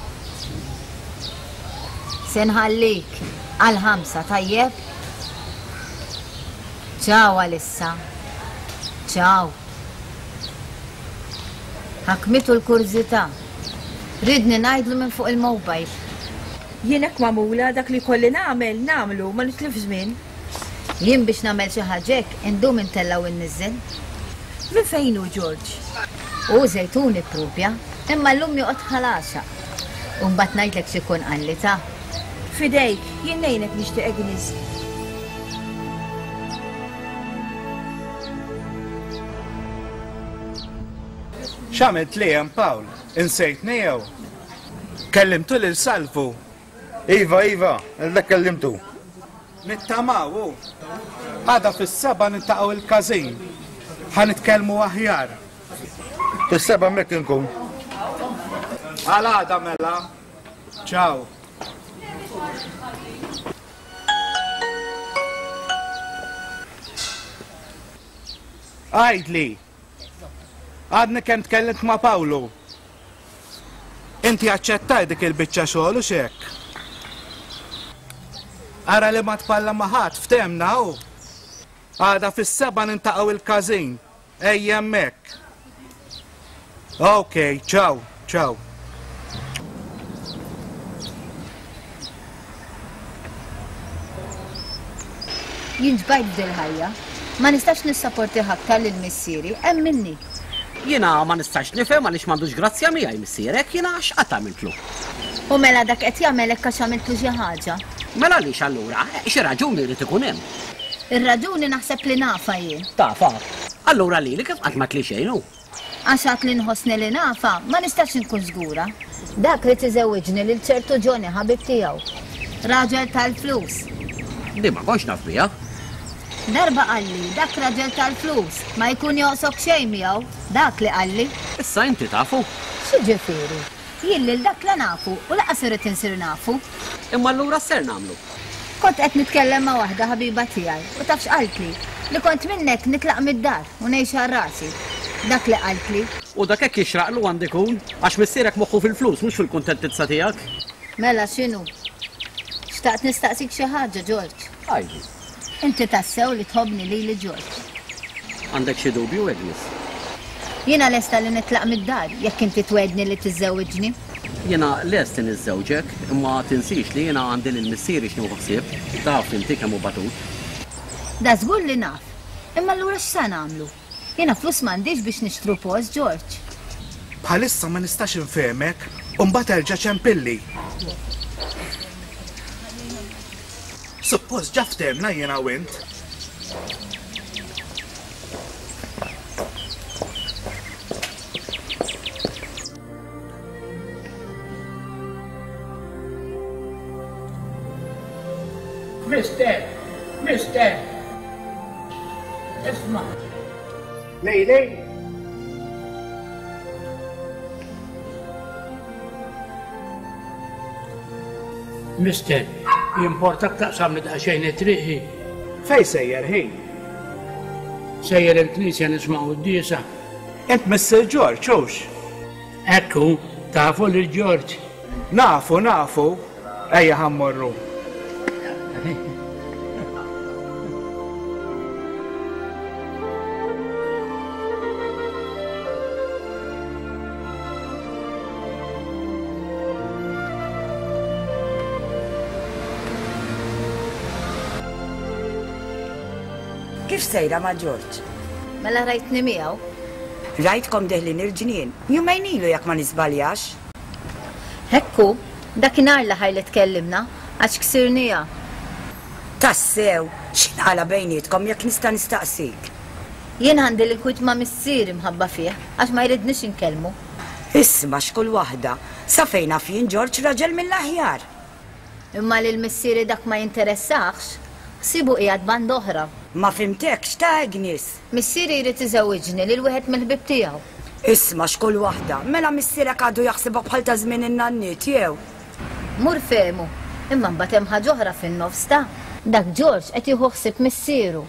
Se nħallik għal ħamsa, tajjeb? Ciao għalissa. Ciao. Ħakmitu l-kurżità. Ridni ngħidlu minn fuq il-mobile. Jien hekk magħmula dak li kolli nagħmel, nagħmlu, ma nitlif żmien. Jien biex nagħmel xi ħaġa hekk indum intella' u nniżżel. Minn fejn hu George? Hu Żejtuni propja, imma llum joqgħod Ħal Għaxaq. U mbagħad ngħidlek x'ikun qalli ta. Fidejk, jien ngħinek nixtieq Agnes. X'għamilt li hemm Pawl? Insejtni jew? Kellimtu lil Salvu. Iva, iva, dak kellimtu. Nittamaw hu. Għada fis-seba' niltaqgħu il-każin. Ħa nitkellmu aħjar. Fis-seba' hemmhekk inkun. Għal għada mela. Ciao. Għidli. Għadni kemm tkellimt ma' Pawlu. Inti aċċettaj dik il-biċċa xogħol u x'hekk. Ara li ma tpalla ma' ħadd ftemna hu. Għada fis-seba' nintaqgħu il-każin. Ejja hemmhekk. Ok, ciao, ciao. Jien ġbajt f'dil-ħajja. Ma nistax nissaporti aktar lil missieri, hemm minni. Jiena ma nistax nifhem għaliex m'għandux grazzja miegħi missierek, jiena x'qatt għamiltlu. U mela dak qed jagħmel hekk għax għamiltlu xi ħaġa. Mela għaliex allura, xi raġuni jrid ikun hemm. Ir-raġuni naħseb li nafa jien. Tafa. Allura lili kif qatt ma tli xejn hu? Għax għad li nħossni li nafa, ma nistax inkun żgura. Dak li tiżewwiġni lil ċertu Johnny ħabib tiegħu. Raġel tal-flus. Di ma kontx naf biha. Darba qalli, dak raġel tal-flus, ma jkun joqsok xejn miegħu, dak li qalli. Issa inti tafu. X'jiġifieri? Jien lil dak la nafu u laqas irrid insir nafu. Imma allura x'ser nagħmlu? Kont qed nitkellem ma' waħda ħabiba tiegħi u taf x'qaltli? Li kont minnek nitlaq mid-dar u ngħix għal rasi. Dak li qaltli. U dak hekk jixraqlu għandu jkun, għax missierek moħħu fil-flus mhux fil-kuntentizza tiegħek. Mela x'inhu? Xtaqt nistaqsik xi ħaġa, George. Għidli. Inti tassew li tħobbni lili George. Għandek xi dubju, Agnes? Jiena lesta li nitlaq mid-dar jekk inti twedni li tiżżewġni. Jiena lest li niżżewġek, imma tinsix li jiena għandi lil missieri x'nieħu ħsieb, taf inti kemm hu batut. Da żgur li naf. Imma allura x'sa nagħmlu? Jiena flus m'għandix biex nixtru post, George. Bħalissa ma nistax infehmek, u mbagħad erġa' ċempilli. Suppost ġa ftehmna jiena u int. Mister, mister, isma'. Lej, lej. Mister, jimportak taqsam li daqsxejn it-triqi. Fej sejjer ħin? Sejjer il-knisja nisma' quddiesa. Int Mister George, hux? Ekku, tafu lil George. Nafu, nafu. Ejja ħa mmorru. Kif sejra ma' George? Mela rajtni miegħu. Rajtkom deħlin il-ġnien, jumejn ilu jekk ma niżbaljax. Hekku, dakinhar l-aħħar li tkellimna, għax ksirnija. Tassew, x'inqala bejnietkom jekk nista' nistaqsik? Jien għandi l-inkwit ma' missieri mħabba fih, għax ma jridnix inkellmu. Isma' x'kull waħda, sa fejn naf jien George raġel mill-aħjar. Imma lil missieri dak ma jinteressax, ħsibu qiegħed band oħra. Ma fimtekx ta' Agnes. Missieri jrid iżewwiġni lil wieħed mill-ħbieb tiegħu. Isma' x'kull waħda, mela missierek għadu jaħsibha bħal ta' żmien in-nanniet jew? Mur fehmu, imma mbagħad hemm ħaġa oħra fin-nofs ta' dak George qed jieħu ħsieb missieru.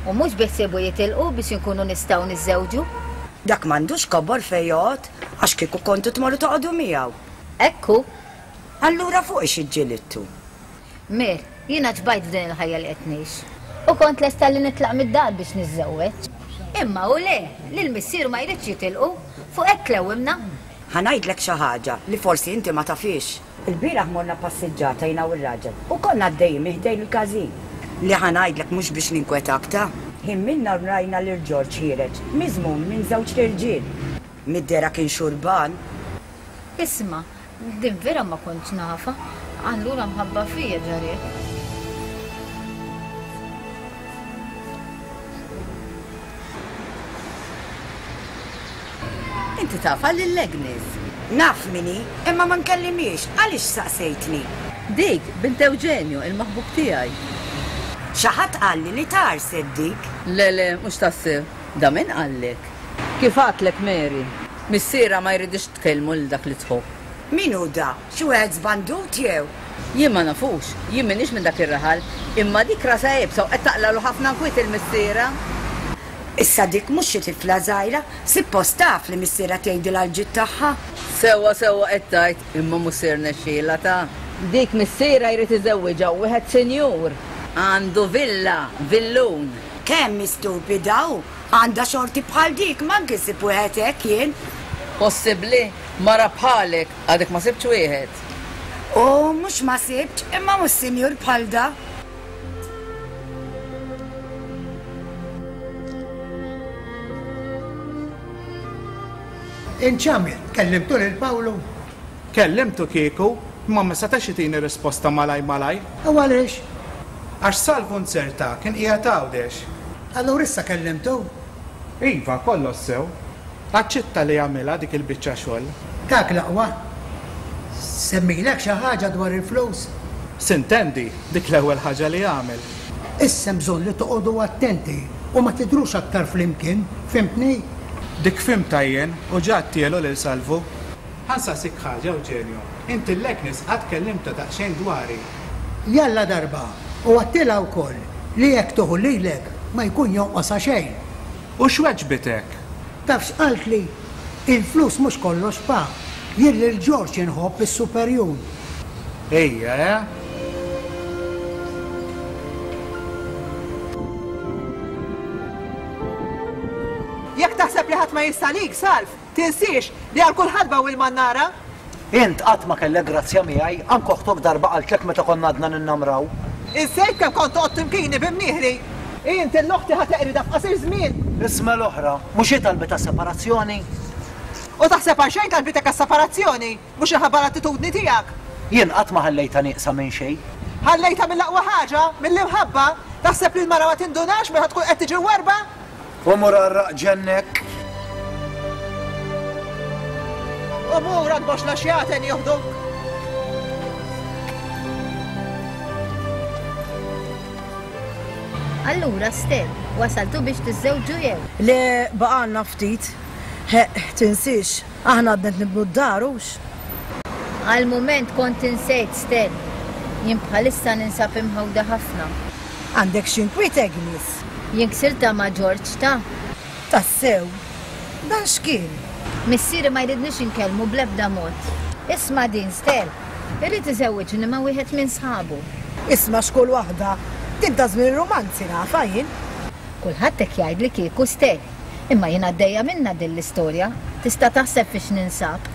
U mhux biħsiebu jitilqu biex inkunu nistgħu niżżewġu. Dak m'għandux kobor fejn joqgħod, għax kieku kontu tmorru toqgħodu miegħu. Ekku. Allura fuq ix iġġilidtu? Mir, jiena ġbajt f'din il-ħajja li qed ngħix. U kont lesta li nitlaq mid-dar biex niżżewweġ. Imma u le, lil missieru ma jridx jitilqu, fuq hekk tlewwimna. Ħa ngħidlek xi ħaġa li forsi inti ma tafix. Il-bieraħ morna passiġġata jiena u r-raġel u konna għaddejjin minn ħdejn il-każin. Li ħa ngħidlek mhux biex ninkwetak ta'. Ħin minna rajna lil George ħiereġ, miżmum minn żewġ irġiel. Mid-dehra kien xurban. Isma', Din vera ma kontx nafha. Allura mħabba fija ġariet. Inti tafha lil Agnes. Naf min hi, imma ma nkellimhiex, għaliex saqsejtni? Dik, bint Eugenio, il-maħbub tiegħi. Xi ħadd qalli li tgħarset dik. Le, le, mhux tassew. Da min qallek? Kif għadtlek Mary, missierha ma jridhiex tkellmu lil dak li tħobb. Min hu da? Xi wieħed żbandut jew? Jien ma nafux, jien m'iniex minn dak ir-raħal, imma dik rasha iebsa u qed taqlagħlu ħafna nkwiet 'il missierha. Issa dik mhux xi tifla żgħira, sippost taf li missierha tgħidilha l-ġid tagħha. Sewwa sewwa qed tgħid, imma mhux se jirnexxielha ta. Dik missierha jrid iżewwiġha u wieħed sinjur. Għandu villa, villun. Kemm hi stupida hu! Għandha xorti bħal dik, m'anki nsib wieħed hekk jien. Possibbli? Mara bħalek, għadek ma sibtx wieħed. U mhux ma sibtx, imma mhux sinjur bħal da. Int x'għamilt? Kellimtu lil Pawlu? Kellimtu kieku, imma ma setax itini risposta malajr malajr. U għaliex? Għax Salvu nzerta kien qiegħed Għawdex. Allura issa kellimtu? Iva, kollox sew. Aċċetta li jagħmilha dik il-biċċa xogħol. Dak l-aqwa. Semmilek xi ħaġa dwar il-flus? Sintendi, dik l-ewwel ħaġa li għamel. Issa hemm bżonn li toqogħdu attenti u ma tidhrux aktar flimkien, fhimtni? Dik fhimtha jien u ġa għedtielu lil Salvu. Ħa nsaqsik ħaġa, Eugenio. Int 'l Agnes qatt kellimtha daqsxejn dwari? Jalla darba, u għedtilha wkoll li jekk tieħu lilek ma jkun jonqosha xejn. U x'weġbitek? Taf x'qaltli? Il-flus mhux kollox pa. Jien lil George inħobb is-superjun. Ejja, eh? Jekk taħseb li ħadd ma jista' għalik, Salv, tinsiex li għal kull ħatba u l-mannara. Int qatt ma kellek grazzja miegħi, anke oħtok darba qaltlek meta konna għadna ninnamraw. Insejt kemm kont toqgħod timkini bi mnieħri. Int l-oħti ħa teqridha f'qasir żmien. Isma' l-oħra, mhux hi talbitha separazzjoni? U taħseb għal xejn talbitek għas-separazzjoni, mhux inħabba l-attitudni tiegħek. Jien qatt ma ħallejtha nieqsa minn xejn. Ħallejtha mill-aqwa ħaġa, mill-imħabba, taħseb li l-mara ma tindunax meta tkun qed tiġi mwarrba? U mur għarraq ġennek. U mur għand boxla xjaten joħduk. Allura, Stel, wasaltu biex tiżżewġu jew? Le, baqgħalna ftit. Ħeqq, tinsiex, aħna għadna qed nibnu d-dar, hux? Għal mument kont insejt, Stel. Jien bħalissa ninsab imħawda ħafna. Għandek xi nkwiet, Agnes? Jien ksirtha ma' George, ta? Tassew? Dan x'kien? Missieri ma jridnix inkellmu bl-ebda mod. Isma' din, Stel. Irid iżewwiġni ma' wieħed minn sħabu. Isma' x'kull waħda. Din ta' żmien ir-romanzi nafha jien. Kulħadd hekk jgħidli kieku, Stel. Imma jien għaddejja minnha din l-istorja. Tista' taħseb fiex ninsab.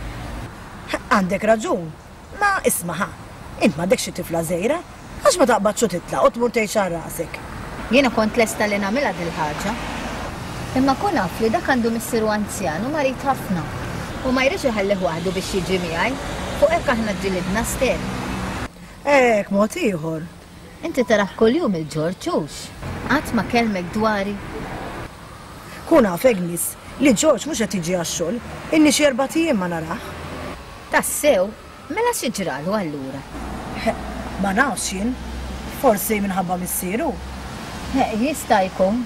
Għandek raġun. Ma isma' ħa. Int m'għandekx xi tifla żgħira? Għax ma taqbadx u titlaq u tmur tgħix għal rasek? Jiena kont lesta li nagħmilha dil-ħaġa. Imma kun af li dak għandu missieru anzjan u marid ħafna. U ma jridx iħallih waħdu biex jiġi miegħi. Fuq hekk aħna ġġilidna, Stel. Hekk mod ieħor. Inti tarah kuljum il-Ġorġ, hux? Qatt ma kellmek dwari? Kun af, Agnes, li Ġorġ mhux qed jiġi għax-xogħol. Ilni xi erbat ijiem ma narah. Tassew? Mela xi ġralu allura? Ħeqq, ma nafx jien. Forsi minħabba missieru. Ħeqq, jista' jkun.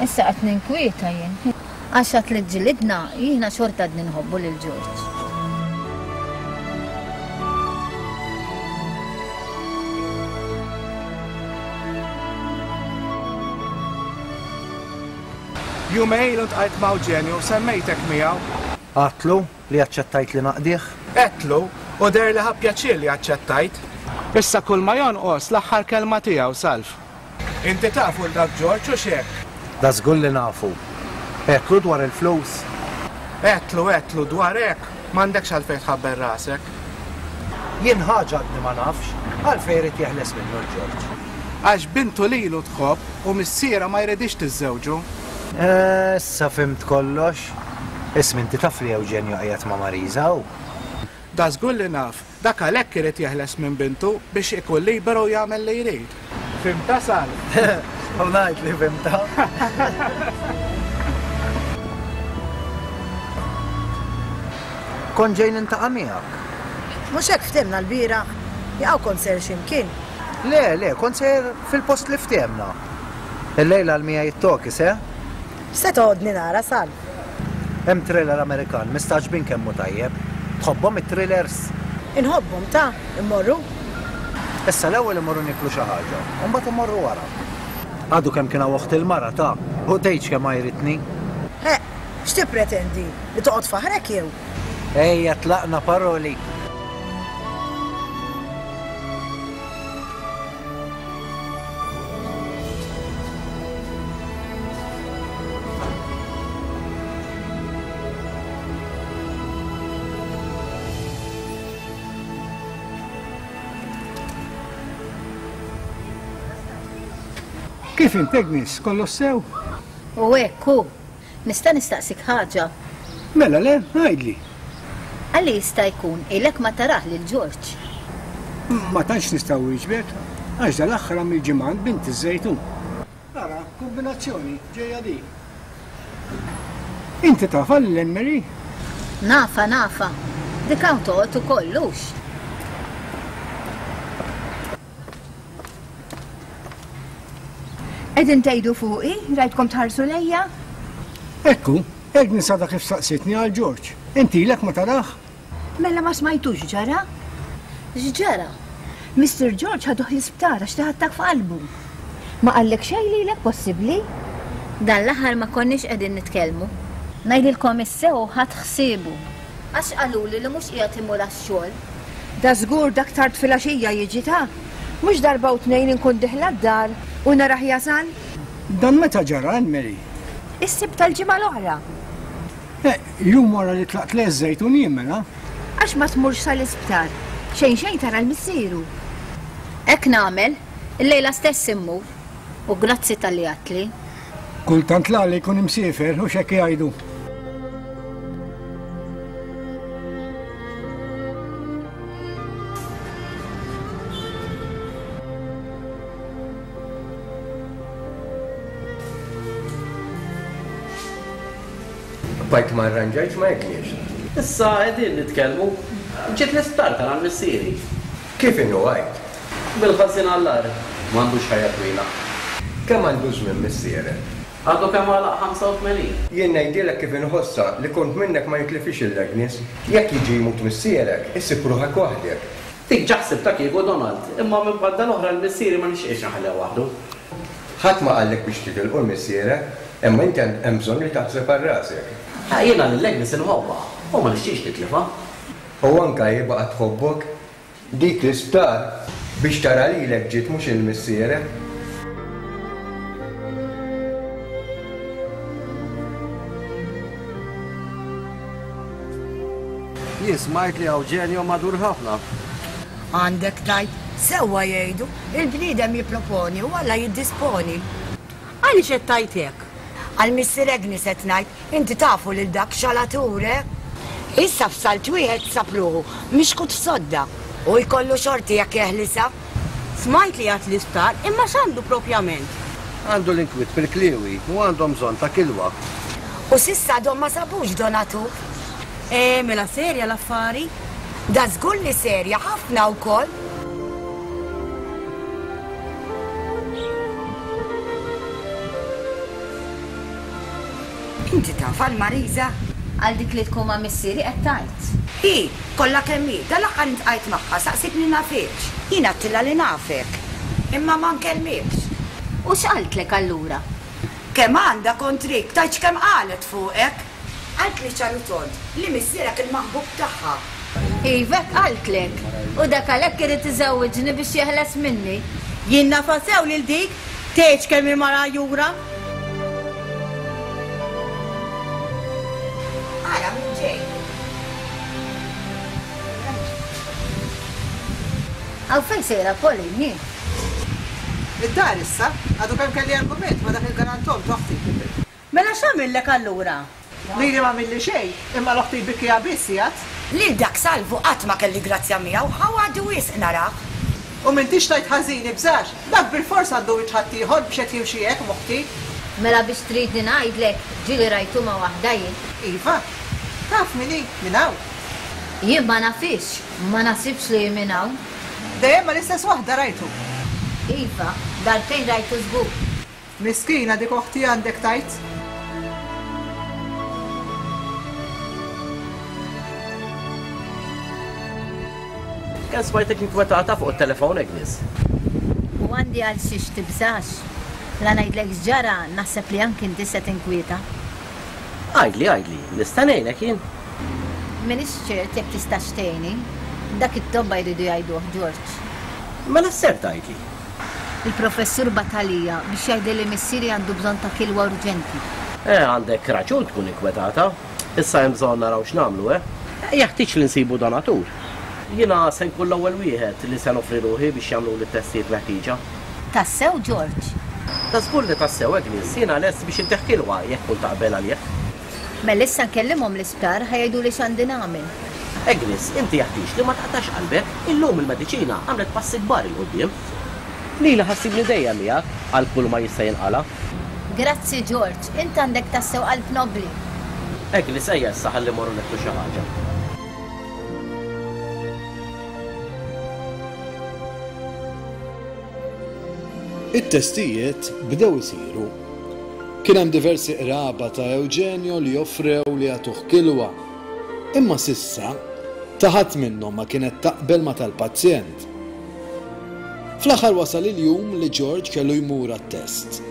Issa qed ninkwieta jien. Għax għad li ġġilidna, jiena xorta għadni nħobbu lil Ġorġ. Jumejn ilu ltqajt ma' Eugenio u semmejtek miegħu. Għedtlu li aċċettajt li naqdih? Għedtlu, u deher li ħa pjaċir li aċċettajt. Issa kull ma jonqos l-aħħar kelma tiegħu, Salv. Inti tafu 'l dak Ġorġ hux hekk? Da żgur li nafu. Għedtlu dwar il-flus? Għedtlu, għedtlu, dwar hekk m'għandekx għalfejn tħabbel rasek. Jien ħaġa għadni ma nafx, għalfejn irid jeħles minnu l-Ġorġ? Għax bintu lilu tħobb u missierha ma jridhiex tiżżewġu. Issa fhimt kollox. Isma' inti taf li Eugenio qiegħed ma' Marisa hu? Da żgur li naf, dak għalhekk irid jeħles minn bintu biex ikun liberu jagħmel li jrid. Fhimtha Sal? U ngħid li fhimtha. Kont ġej nintaqa' miegħek. Mhux hekk ftehmna l-bieraħ? Jaqaw kont sejjer xi mkien? Le, le, kont sejjer fil-post li ftehmna. Illejla għal miegħi it-tokis, eh? X'se toqgħodni nara, Sal? Hemm thriller Amerikan, mistagħġbin kemm hu tajjeb. Tħobbhom it-thrillers? Inħobbhom, ta, immorru? Issa l-ewwel immorru nieklu xi ħaġa, u mbagħad immorru wara. Għadu kemm kien hawn oħt il-mara, ta, u tgħidx kemm għajritni. Ħeqq, x'tippretendi? Li toqgħod faħrek jew? Ejja tlaqna paroli. Kif int Agnes, kollox sew? U hekk hu. Nista' nistaqsik ħaġa? Mela le, għidli. Għalli jista' jkun ilek ma tarah lil George. Ma tantx nista' wieġbek, għax dal-aħħar għamil ġimgħa għand bint iż-Żejtun. Ara, kombinazzjoni ġejja dik. Inti tafha lil Anne-Marie? Nafa, nafa. Dik hawn toqgħod ukoll hux. Qegħdin tgħidu fuqi, rajtkom tħarsu lejja? Ekku, Agnes għadha kif saqsitni għal George. Inti ilek ma tarah? Mela ma smajtux ġara? X'ġara? Mister George ħaduh l-isptar għax taħ attakk f'qalbu. Ma qallek xejn lilek possibbli? Dan l-aħħar ma konniex qegħdin nitkellmu. Ngħidilkom is-sew ħadd ħsiebu. Għax qaluli li mhux qiegħed imur għax-xogħol. Da żgur dak tard filgħaxija jiġi ta'. Mhux darba u tnejn inkun diħla d-dar u narah jasal. Dan meta ġara, Anne-Marie? Is-Sibt tal-ġimgħa l-oħra. Eh, jum wara li tlaqt le ż-Żejtun jien mela. Għax ma tmurx sal-isptar. Xejn xejn tara l-missieru. Hekk nagħmel, illejla stess immur. U grazzi tal-li għatli. Kultant l-għali jkun imsiefer u x'hekk jgħidu. Bajt ma arranġajtx ma jekniex. Issa qegħdin nitkellmu. Ġiet l-isptar tara missieri. Kif inhu għajt? Bil-ħażin għall-agħar, m'għandux ħajja twila. Kemm għandu żmien missierek? Għadu kemm għalaq ħamsa u tmenin. Jien ngħidilek kif inħossha li kont minnek ma jitlifix il-Agnes. Jekk jiġi jmut missierek, issib ruħek waħdek. Dik ġa ħsibtha kieku Donald, imma minn banda l-oħra l-missieri ma nixtieqx naħleh waħdu. Ħadd ma qallek biex titilqu l-missierek, imma inti hemm bżonn li taħseb għal rasek. Ah, jiena lil Agnes inħobbha u ma nixtieqx nitlifha. U anke hi baqgħet tħobbok. Dik l-isptar biex tara lilek ġiet mhux il-missierek. Jien smajt li hawn ġenju madur ħafna. Għandek tgħid, sewwa jgħidu, il-bniedem jipproponi u Alla jiddisponi. Għaliex qed tgħid hekk? Għal missier Agnes qed ngħid, inti tafu lil dak xalatur, eh? Issa f'salt wieħed sab ruħu mixkut f'sodda u jkollu xorti jekk jeħlisha. Smajt li għad l-isptar, imma x'għandu propjament? Għandu l-inkwiet fil-kliewi u għandhom bżonn ta' kilwa. U s'issa għadhom ma sabux donatur. Eh, mela serja l-affari? Da żgur li serja ħafna wkoll. Inti taf għal Marisa? Għal dik li tkun ma' missieri qed tgħid. Hi, kollha kemm hi, dal-aħħar intqajt magħha saqsitni nafekx. Jien għedtilha li nafek, imma ma nkellmikx. U x'qaltlek allura? Kemm għandha kontrik, tgħidx kemm qalet fuqek. Qaltli ċaru tond li missierek il-maħbub tagħha. Iva, qaltlek. U dak għalhekk irid iżewwiġni biex jeħles minni. Jien nafa sew lil dik, tgħidx kemm hi mara jura. Ara min ġej. Għaw fejn sejra Pauline, hi? Id-dar issa, għadu kemm kelli argument ma' dak il-garantom toħti. Mela x'għamillek allura? Lili ma għamilli xejn, imma l-oħti jbikkija biss jgħid. Lil dak Salvu qatt ma kelli grazzja miegħu, ħawadi wisq narah. U m'intix tgħid ħażin ibżax, dak bilfors għandu wiċċ ħaddieħor biex qed jimxi hekk m'oħti. Mela biex tridni ngħidlek, ġieli rajtu ma' waħda jien. Iva, taf min hi, minn hawn. Jien ma nafhiex, ma naħsibx li hi minn hawn. Dejjem mal-istess waħda rajtu. Iva, darbtejn rajtu żgur. Miskina dik oħti għandek tgħid. Kemm smajtek inkwetata fuq it-telefon, Agnes? U għandi għal xiex tibżax. La ngħidlek x'ġara, naħseb li anki inti se tinkwieta. Għidli, għidli, nista' ngħinek jien? M'iniex ċert jekk tistax tgħinni. Dak it-tobba jridu jgħiduh, George. Mela x'ser tgħidli? Il-professur bagħat għalija biex jgħidli li missieri għandu bżonn ta' kilwa urġenti. Eh, għandek raġun tkun inkwetata. Issa hemm bżonn naraw x'nagħmlu, eh? Jeħtieġ li nsibu donatur. Jiena se nkun l-ewwel wieħed li se noffri ruħi biex jagħmluli t-testijiet meħtieġa. Tassew, George? Ta' żgur li tassew, Agnes, jiena lest biex intih kilwa jekk tkun taqbel għalih. Mela issa nkellimhom l-isptar ħa jgħiduli x'għandi nagħmel. Agnes, inti jeħtieġ li ma taqtax qalbek, illum il-mediċina għamlet passi kbar 'il quddiem. Lili ħassibni dejjem miegħek għal kull ma jista' jinqala'. Grazzi, George, int għandek tassew qalb nobbli. Agnes, ejja issa ħalli mmorru nieklu xi ħaġa. It-testijiet bdew isiru. Kien hemm diversi qraba ta' Eugenio li offrew li jagħtuh kilwa. Imma s'issa, ta' ħadd minnhom ma kienet taqbel ma' tal-pazjent. Fl-aħħar wasal il-jum li George kellu jmur għat-test.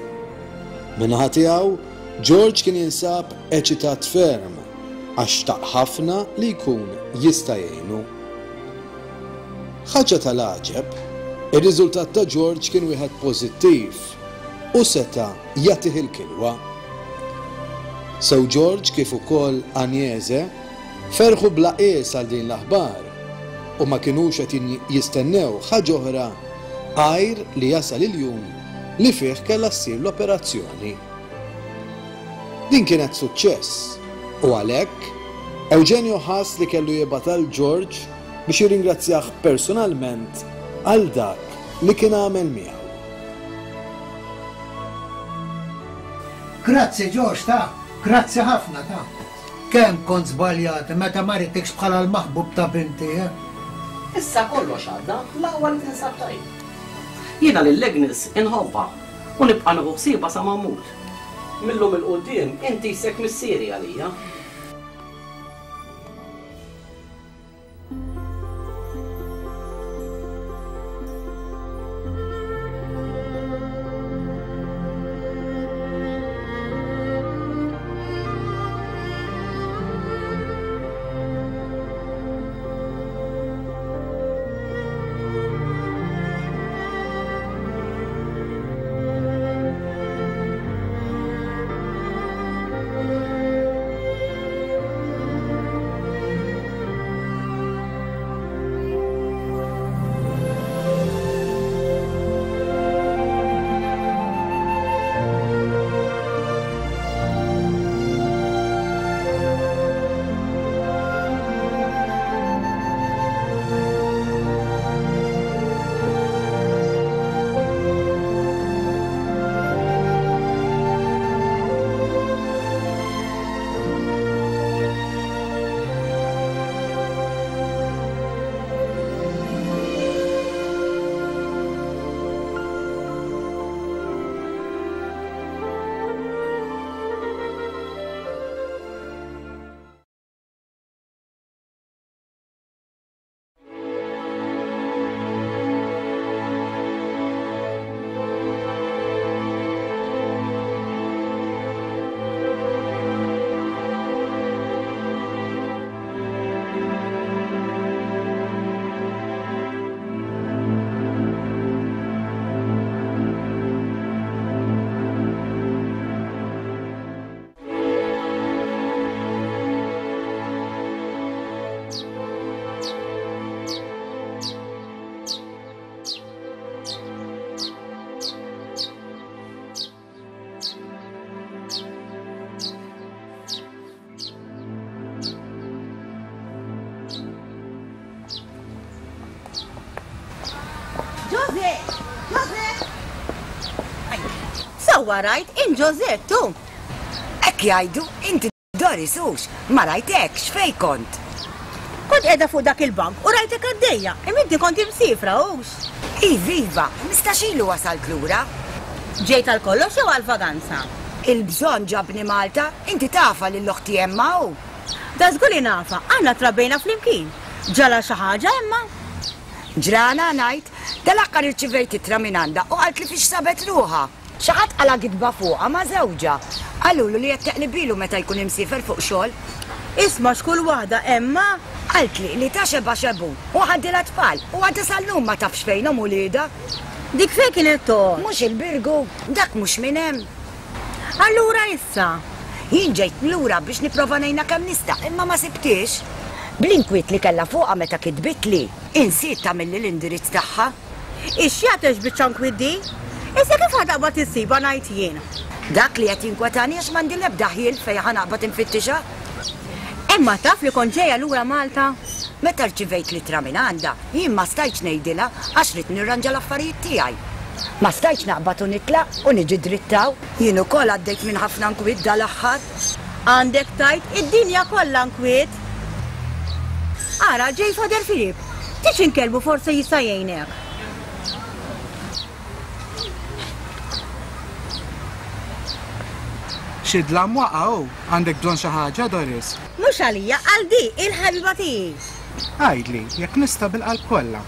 Min-naħa tiegħu, George kien jinsab eċitat ferm għax xtaq ħafna li jkun jista' jgħinu. Ħaġa tal-għaġeb, ir-riżultat ta' George kien wieħed pożittiv u seta' jagħtih il-kilwa. Sew George kif ukoll Agnese ferħu bla qies għal din l-aħbar u ma kinux qed jistennew ħaġa oħra għajr li jasal il-jum li fih kellha ssir l-operazzjoni. Din kienet suċċess u għalhekk Eugenio ħass li kellu jibgħat għal George biex jirringrazzjah personalment għal dak li kien għamel miegħu. Grazzi George ta, grazzi ħafna ta. Kemm kont żbaljat meta ma ridtikx bħala l-maħbub ta' binti, eh? Issa kollox għadda, l-aqwa li tinsab tajjeb. Jiena lil Agnes inħobbha u nibqa' nieħu ħsiebha sa ma mmut. Millum 'il quddiem inti jsek missieri għalija. Sewwa rajt, int Josette hu. Hekk jgħidu, inti Doris hux, ma rajtekx, fejn kont? Kont qiegħda fuq dak il-bank u rajtek għaddejja, imma inti kont imsiefra hux? Iva, iva, ħmistax ilu wasalt lura. Ġejt għal kollox jew għal vaganza? Il-bżonn ġabni Malta, inti tafha lil oħti Emma hu. Da żgur li nafha, aħna trabbejna flimkien. Ġara xi ħaġa Emma? Ġrana ngħid, dal-aħħar irċivejt ittra minn għandha u qaltli fiex sabet ruħha. Xi ħadd qala gidba fuqha ma' żewġha. Qalulu li qed teqlibilu meta jkun imsiefer fuq xogħol. Isma' x'kull waħda Emma? Qaltli li ta xebgħa xebgħun u ħadilha tfal u għadha sal-lum ma tafx fejnhom uliedha. Dik fejn kienet toqgħod? Mhux il-Birgu, dak mhux minn hemm. Allura issa? Jien ġejt lura biex nipprova ngħinha kemm nista' imma ma sibtiex. Bl-inkwiet li kellha fuqha meta kitbitli, insiet tagħmilli l-indirizz tagħha. Ix-xjat għex biċċa nkwiet di? Issa kif ħa taqbad issibha ngħid jien? Dak li qed jinkwetani għax m'għandi l-ebda ħjiel fejn ħa naqbad infittixha. Emma taf li kont ġejja lura Malta? Meta rċivejt l-ittra minn għandha, jien ma stajtx ngħidilha għax ridt nirranġa l-affarijiet tiegħi. Ma stajtx naqbad u nitlaq u niġi dritt hawn. Jien ukoll għaddejt minn ħafna nkwiet dal-aħħar. Għandek tgħid id-dinja kollha nkwiet. Ara ġej Father Filip. Tix inkellmu forsi jista' jgħinek. Xi dlam waqa' hu, għandek bżonn xi ħaġa, Doris? Mhux għalija, għal di, il-ħabiba tiegħi. Għidli, jekk nista' bil-qalb kollha.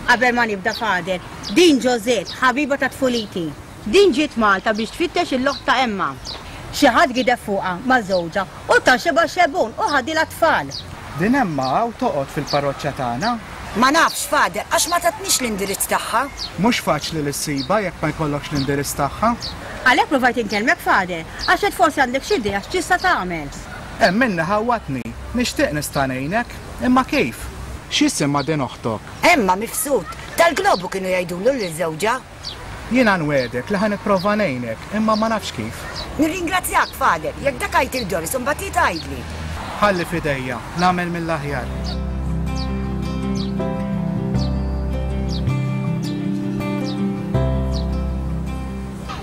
Qabel ma nibda Father, din Josette, ħabiba ta' tfuliti. Din ġiet Malta biex tfittex il-loħt ta' Emma. Xi ħadd gideb fuqha ma' żewġha u ta' xebgħa xebgħun u ħadilha tfal. Din Emma hawn toqgħod fil-parroċċa tagħna? Ma nafx, Father, għax ma tatnix l-indirizz tagħha. Mhux faċli li ssibha jekk ma jkollokx l-indirizz tagħha. Għalhekk provajt inkellmek, Father, għax qed forsi għandek xi idea x'tista' tagħmel. Hemm minni ħawwatni, nixtieq nista' ngħinek, imma kif? X'isimha din oħtok? Emma Mifsud, tal-Globu kienu jgħidulu lil żewġha. Jiena nwegħdek li ħa nipprova ngħinek, imma ma nafx kif. Nirringrazzjak, Father, jekk dak għidt il Doris u mbagħad hi tgħidli. Ħalli f'idejja, nagħmel mill-aħjar.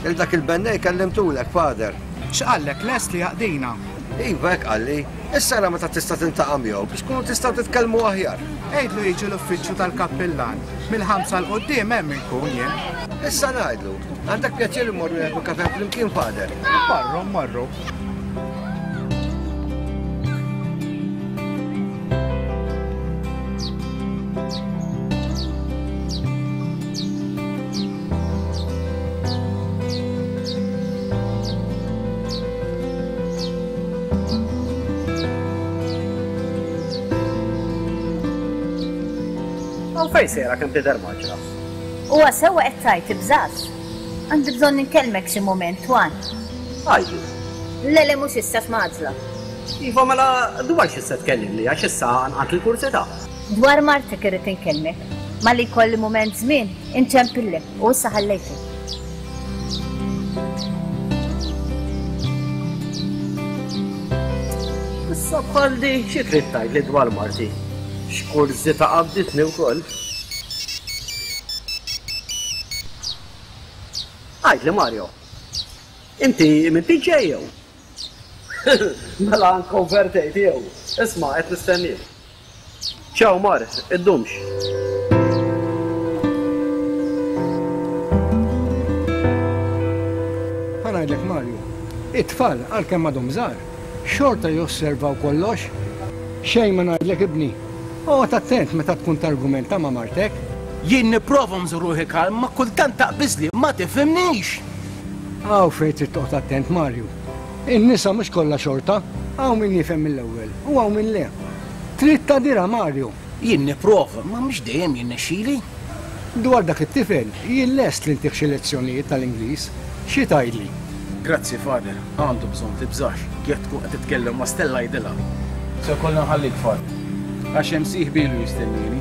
Il dak il-bennej kellimtulek, Father. X'qallek lest li jaqdina? Iva, hekk qalli. Issa ara meta tista' tiltaqa' miegħu biex tkunu tistgħu titkellmu aħjar. Għidlu jiġi l-uffiċċju tal-kappillan. Mill-ħamsa 'l quddiem hemm inkun jien. Issa ngħidlu. Għandek pjaċir immorru nieħdu kafè flimkien, Father? Morru, morru. Fejn sejra kemm tidher maġra? Huwa sewwa qed tgħid tibżax. Għandi bżonn inkellmek xi mument, Twan. Għajdu. Le le mhux issa x'maġla. Iva mela dwar xi se tkellimni għax issa nqant il-kursità. Dwar martek irrid inkellmek. Malli jkolli mument żmien inċempillek u issa ħallejtek. Issa bħalli xi trid tgħidli dwar marti? X'kursità qabditni wkoll. Għidli Mario, inti minn P J jew? Mela nkonvertejt jew. Isma' qed nistenniek. Ciao Mar, iddumx. Ħa ngħidlek Mario, it-tfal għalkemm għadhom żgħar, xorta josservaw kollox. Xejn ma ngħidlek ibni. Oqgħod attent meta tkun targumenta ma' martek. Jien nipprova nżur ruħi kalm, ma kultant taqbiżli, ma tifhimnix. Hawn fejn trid toqgħod attent Mario. In-nisa mhux kollha xorta, hawn min jifhem mill-ewwel u hawn min le. Trid tagħdirha Mario. Jien nipprova, ma mhux dejjem jinnexxili. Dwar dak it-tifel, jien lest li ntih xi lezzjonijiet tal-Ingliż. Xi tgħidli? Grazzi Father, għandu bżonn tibżax, jekk tkun qed titkellem ma' Stella jgħidilha. Se kollha nħallik Father, għax hemm sieħbi ilu jistennieni.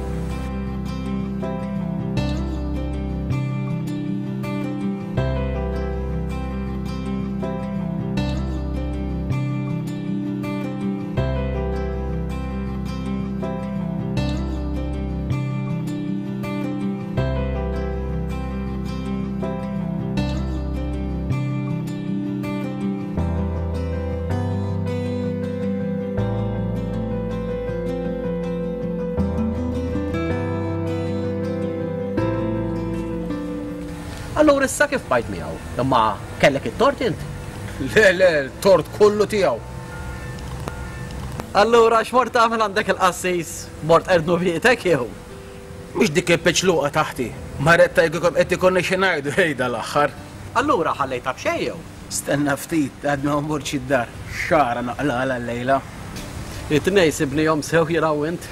Allura issa kif bajt miegħu? Imma kellek it-tort int? Le, le, tort kollu tiegħu. Allura x'mort tagħmel għandek il-qassis? Mort erdnu bietek jew? Mhux dik il-peċluqa taħti. Marret tajkikom qed ikonni xi ngħidu ħejda l-aħħar. Allura ħallejtha b'xejn jew? Stenna ftit, għadna ma mmortx id-dar. Xara naqlala llejla. It-tnejn sibnihom sew jiraw int.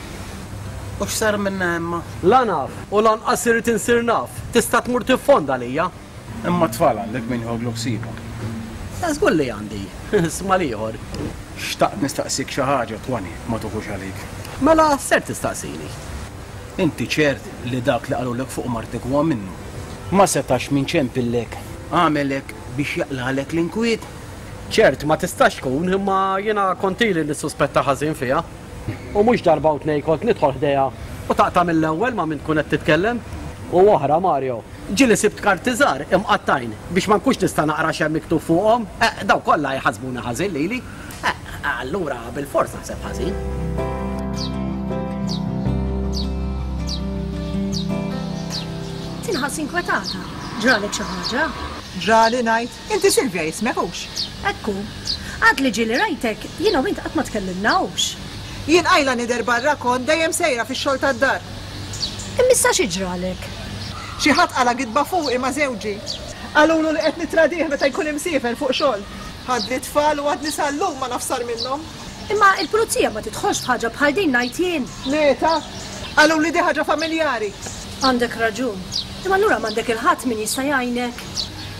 U x'sar minna Emma? La naf, u lanqas irid insir naf. Tista' tmur tiffonda għalija. Imma tfal għandek min jħoglok ħsiebhom. Żgur li għandi. Isma' l-ieħor. Xtaqt nistaqsik xi ħaġa Twani, ma tuħux għalik. Mela ser tistaqsini. Inti ċert li dak li qalulek fuq martek huwa minnu. Ma setax min ċempillek, għamelek biex jaqlalek l-inkwiet. Ċert ma tistax tkun, imma jiena kont ili nissuspetta ħażin fiha. U mhux darba u tnejn kont nidħol ħdejha u taqta' mill-ewwel ma' min tkun qed titkellem. U oħra Mario, ġieli sibt karti żgħar imqattajn biex ma nkunx nista' naqra x'hemm miktub fuqhom. Eh, daw kollha jħassbuni ħażin lili. Eh, allura bilfors naħseb ħażin. Tinħass inkwetata. Ġralek xi ħaġa? Ġrali ngħid, inti Silvia jismek hux. Ekku, għad li ġieli rajtek, jiena u int qatt ma tkellimna hux. Jien qajla nidher barra kont dejjem sejra fix-xogħol tad-dar. Imma issa xi ġralek? Xi ħadd qala gidba fuqi ma' żewġi. Qalulu li qed nitradih meta jkun imsiefer fuq xogħol. Ħadli t-tfal u għadni sal-lum ma naf sar minnhom. Imma il-pulizija ma tidħolx f'ħaġa bħal din ngħid jien. Le ta, qaluli di ħaġa familjari. Għandek raġun. Imma allura m'għandek il-ħadd min jista' jgħinek.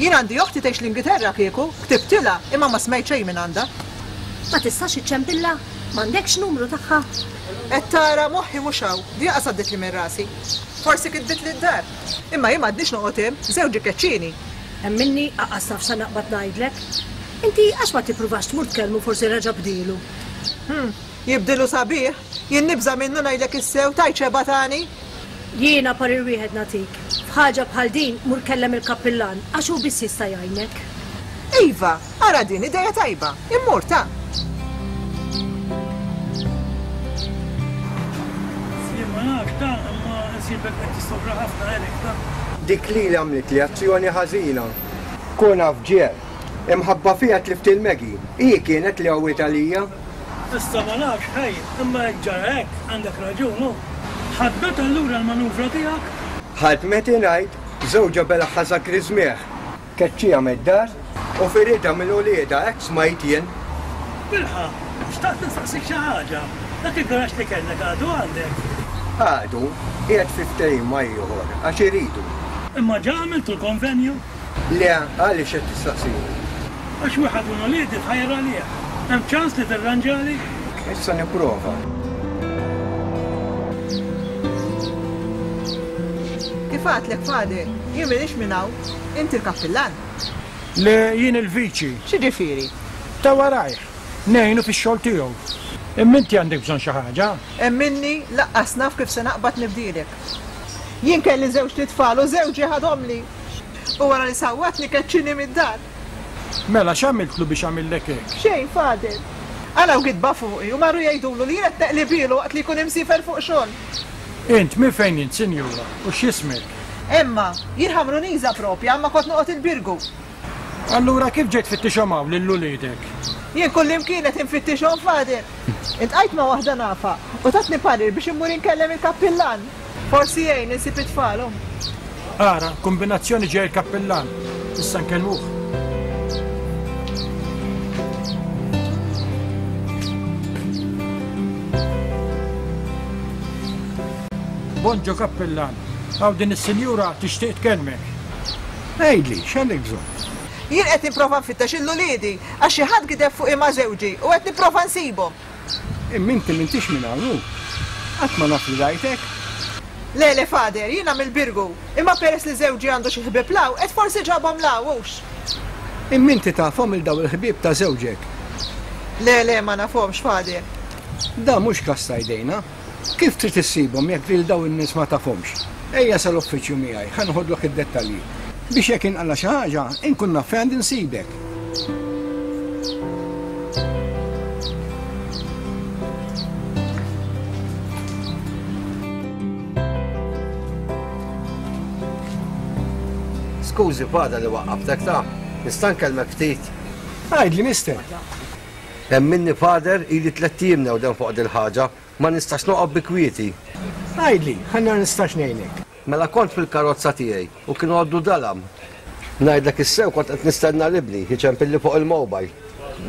Jien għandi oħti tgħix l-Ingilterra kieku, ktibtilha imma ma smajt xejn minn għandha. Ma tistax iċċempilha? M'għandekx numru tagħha? Qed tara moħħi mhux hawn, di qas għaddietli minn rasi. Forsi kitbitli d-dar. Imma jien m'għadniex noqgħod hemm, żewġi keċċieni. Hemm minni aqas naf sa naqbad ngħidlek. Inti għax ma tippruvax tmur tkellmu forsi reġa' bdielu. Hmm, jibdilu sabiħ, jien nibża' minnu ngħidlek issew tgħid xebgħa tani. Jiena parir wieħed nagħtik. F'ħaġa bħal din mur kellem il-kappillan għax hu biss jista' jgħinek. Iva, ara din ideja tajba, immur ta. Jien ma nafx ta, imma nsibek qed tissofra ħafna Eric ta. Dik lili għamlitli azzjoni ħażina. Kun af ġiel. Imħabba fiha tlift il-Maggie. Hi kienet li qawwiet għalija. Issa ma nafx ħej, imma jekk ġara hekk għandek raġun hu. Ħadmet allura l-manuvra tiegħek? Ħadmet ingħid, żewġha belaħħa sakriżmieħ. Keċċiha mid-dar u firidha minn uliedha hekk smajt jien. Bilħaqq, xtaqt nistaqsik xi ħaġa. Dak il-garaxx li kellek għadu għandek? Għadu, qiegħed fi ftehim ma' ieħor għax iridu. Imma ġa għamiltu l-konvenju? Le, għaliex qed tistaqsini? Għax wieħed minn uliedi tħajjar għalih. Hemm ċans li tirranġali? Issa nipprova. Kif għadlek Father, jien m'iniex minn hawn, inti l-kappillan. Le, jien il-viċi. X'jiġifieri? Ta' warajh, ngħinu fix-xogħol tiegħu. Imma inti għandek bżonn xi ħaġa? Emminni, laqqas naf kif se naqbad nibdielek. Jien kelli żewġt itfal u żewġi ħadhomli. U wara li sawwatni keċċini mid-dar. Mela x'għamiltlu biex għamillek hekk? Xejn, Father. Qalgħu gidba fuqi u marru jgħidulu li jien qed neqlibielu waqt li jkun imsiefer fuq xogħol. Int minn fejn int, sinjura, u x'jismek? Emma, jien Ħamruniża propja, imma kont noqgħod il-Birgu. Allura kif ġejt tfittixhom hawn lil uliedek? Jien kullimkien qed infittixhom, Father. Iltqajt ma' waħda nafha u tatni parir biex immur inkellem il-kappillan. Forsi jgħin insib it-tfal, omm. Ara, kumbinazzjoni ġej il-kappillan. Issa nkellmuh. Bonġo kappillan, hawn din is-sinjura tixtieq tkellmek. Għidli, x'għandek bżonn? Jien qed nipprova nfittex lil uliedi għax xi ħadd gideb fuqi ma' żewġi u qed nipprova nsibhom. Imma inti m'intix minn hawn hu? Qatt ma naf li rajtek. Le, le Father, jiena mill-Birgu, imma peress li żewġi għandu xi ħbieb 'l hawn, qed forsi ġabhom 'l hawn hux. Imma inti tafhom 'il dawn il-ħbieb ta' żewġek? Le, le, ma nafhomx, Father. Dan mhux każ ta' jdejna. Kif trid issibhom jekk lil dawn in-nies ma tafhomx? Ejja sal-uffiċċju miegħi, ħa noħodlok id-dettalji. Biex jekk inqala' xi ħaġa, inkun naf fejn għandi nsibek. Skużi Father li waqqaftek ta. Nista' nkellmek ftit? Għidli mister. Emminni Father ili tlett ijiem newden fuq dil-ħaġa, ma nistax noqgħod bi kwieti. Għidli, ħa nara nistax ngħinek. Mela kont fil-karozza tiegħi u kien għoddu dalam. Ngħidlek is-sew kont qed nistenna 'l ibni jiċempilli fuq il-mobile.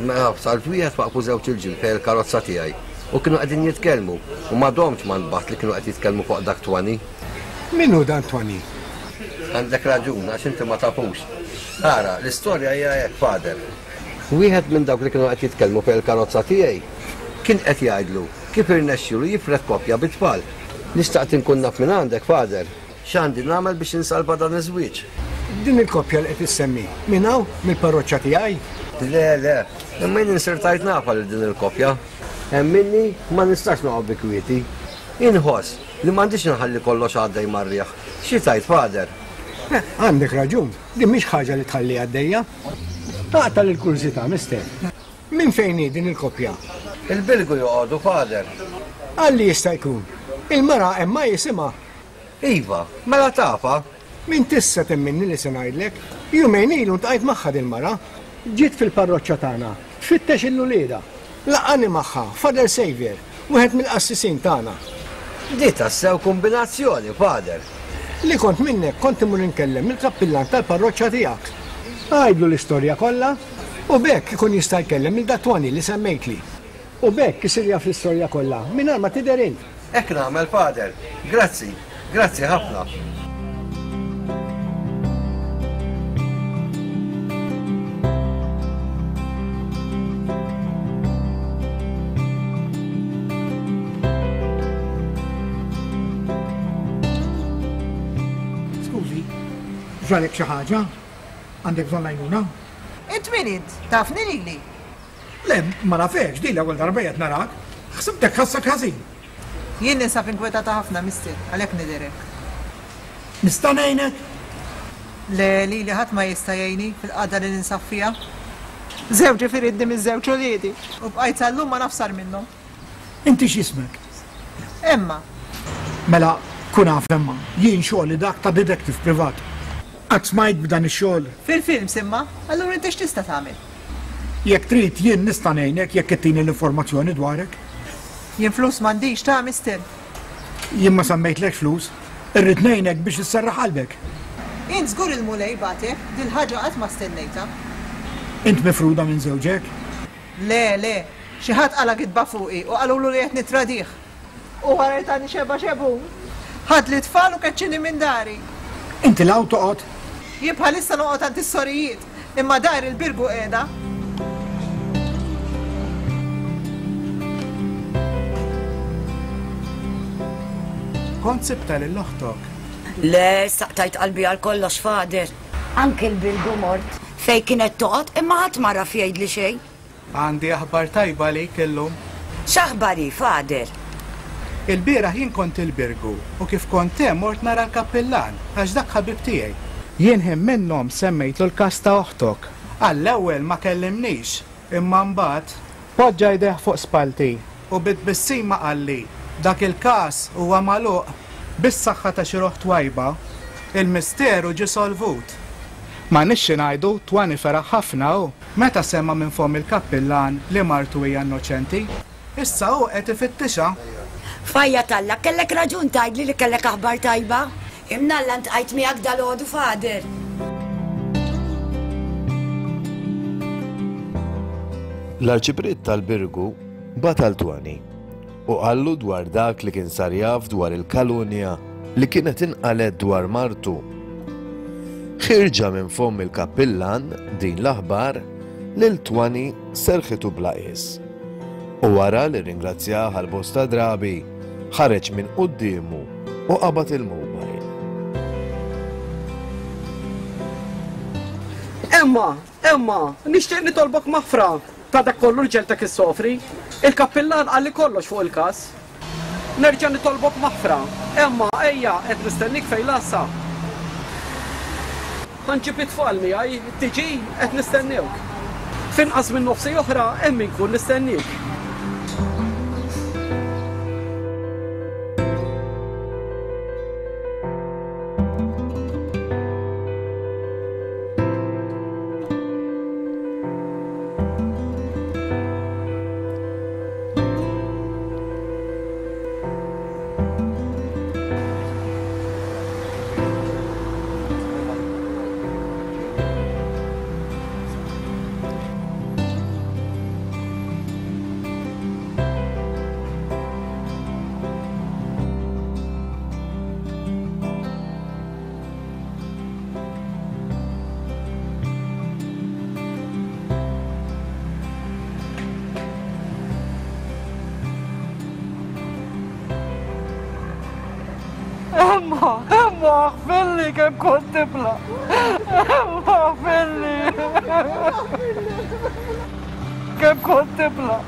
Mela f'salt wieħed waqfu żewġ irġiel fejn il-karozza tiegħi u kienu qegħdin jitkellmu u ma domtx ma nbaħt li kienu qed jitkellmu fuq dak Twani. Min hu dan Twani? Għandek raġun għax inti ma tafux. Ara, l-istorja hija hekk, Father. Wieħed minn dawk li kienu qed jitkellmu fejn il-karozza tiegħi kien qed jgħidlu kif irnexxielu jifred koppja bi tfal. Li xtaqt inkun naf minn għandek, Father, x'għandi nagħmel biex insalva dan iż-żwieġ? Din il-koppja li qed issemmi, minn hawn, mill-parroċċa tiegħi? Le, le, imma jien insertajt nafha lil din il-koppja. Emminni, ma nistax noqgħod bi kwieti. Inħoss li m'għandix inħalli kollox għaddej mar-riħ. Xi tgħid, Father? Eh, għandek raġun, din mhix ħaġa li tħalli għaddejja. Taqta' lill-kurżità, Mister. Minn fejn hi din il-koppja? Il-Birgu joqogħdu, Father. Għalli jista' jkun. Il-mara Emma jisimha. Iva, mela tafha. Min tista' temminni li se ngħidlek? Jumejn ilu ntqajt magħha dil-mara. Ġiet fil-parroċċa tagħna tfittex 'il uliedha. Laqqagħni magħha Father Saviour, wieħed mill-qassisin tagħna. Di tassew kumbinazzjoni, Father. Li kont minnek kont immur inkellem lill-kappillan tal-parroċċa tiegħek. Għidlu l-istorja kollha u b'hekk ikun jista' jkellem lil dat-Tony li semmejtli. U b'hekk isir jaf l-istorja kollha mingħajr ma tidher int. Hekk nagħmel, Father. Grazzi. Grazzi ħafna. Skużi, ġralek xi ħaġa? Għandek bżonn l-għajnuna? Int min int? Tafni lili? Le, ma nafekx, din l-ewwel darba qiegħed narak. Ħsibtek ħassek ħażin. Jien ninsab inkwetata ħafna, mister, għalhekk nidher hekk. Nista' ngħinek? Le, lili ħadd ma jista' jgħinni fil-qagħda li ninsab fiha. Żewġi firidni miż-żewġ uliedi u bqajt sal-lum ma naf sar minnhom. Inti x'ismek? Emma. Mela, kun af Emma, jien xogħli dak ta' detective privat. Qatt smajt b'dan ix-xogħol? Fil-films imma, allura inti x'tista' tagħmel? Jekk trid jien nista' ngħinek jekk ittini l-informazzjoni dwarek. Jien flus m'għandix ta' mister. Jien ma semmejtlekx flus, irrid ngħinek biex isserraħ qalbek. Int żgur il-Mulej bagħtek, dil-ħaġa qatt ma stennejtha. Int mifruda minn żewġek? Le, le, xi ħadd qala' gidba fuqi u qalulu li qed nittradih. U wara li tani xebgħa xebgħun, ħadli t-tfal u keċċini minn dari. Inti 'l hawn toqgħod? Jien bħalissa noqgħod għand is-sorijiet, imma dari l-Birgu qiegħda. Kont sibtha lil oħtok? Le, issa qtajt qalbi għal kollox, Father. Anki l-Birgu mort fejn kienet toqgħod imma ħadd ma raf jgħidli xejn. Għandi aħbar tajba għalik illum. X'aħbar hi, Father? Ilbieraħ jien kont il-Birgu u kif kont hemm mort nara l-kappillan għax dak ħabib tiegħi. Jien ħin minnhom semmejtlu l-każ ta' oħtok. Għall-ewwel ma kellimnix, imma mbagħad poġġa jdejh fuq spallti u bi tbissima qalli, Dak il-każ huwa magħluq. Bis-saħħa ta' xi ruħ twajba, il-misteru ġie solvut. M'għandniex xi ngħidu, Twani feraħ ħafna hu meta sema' minn fomm il-kappillan li martu hija innoċenti. Issa hu qed ifittixha. F'għajja t'Alla, kellek raġun tgħidli li kellek aħbar tajba. Imnalla ntqajt miegħek dalgħodu, Father. L-Arċipriet tal-Birgu bagħat għal Twani u qallu dwar dak li kien sar jaf dwar il-kalunja li kienet inqalet dwar martu. Ħirġa minn fomm il-kappillan din l-aħbar lil Twani serħitu bla qies. U wara li rringrazzjah għal bosta drabi, ħareġ minn quddiemu u qabad il-mobile. Emma, Emma, nixtieq nitolbok maħfra ta' dak kollu li ġegħeltek issofri. Il-kappillan qalli kollox fuq il-każ. Nerġa' nitolbok maħfra. Emma, ejja, qed nistennik fejn l-għassa. Ħa nġib it-tfal miegħi, tiġi? Qed nistennewk. F'inqas minn nofsi oħra hemm inkun nistenniek. Aħfirli kemm kont tifla. Emma, aħfirli. Kemm kont tifla.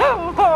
Emma.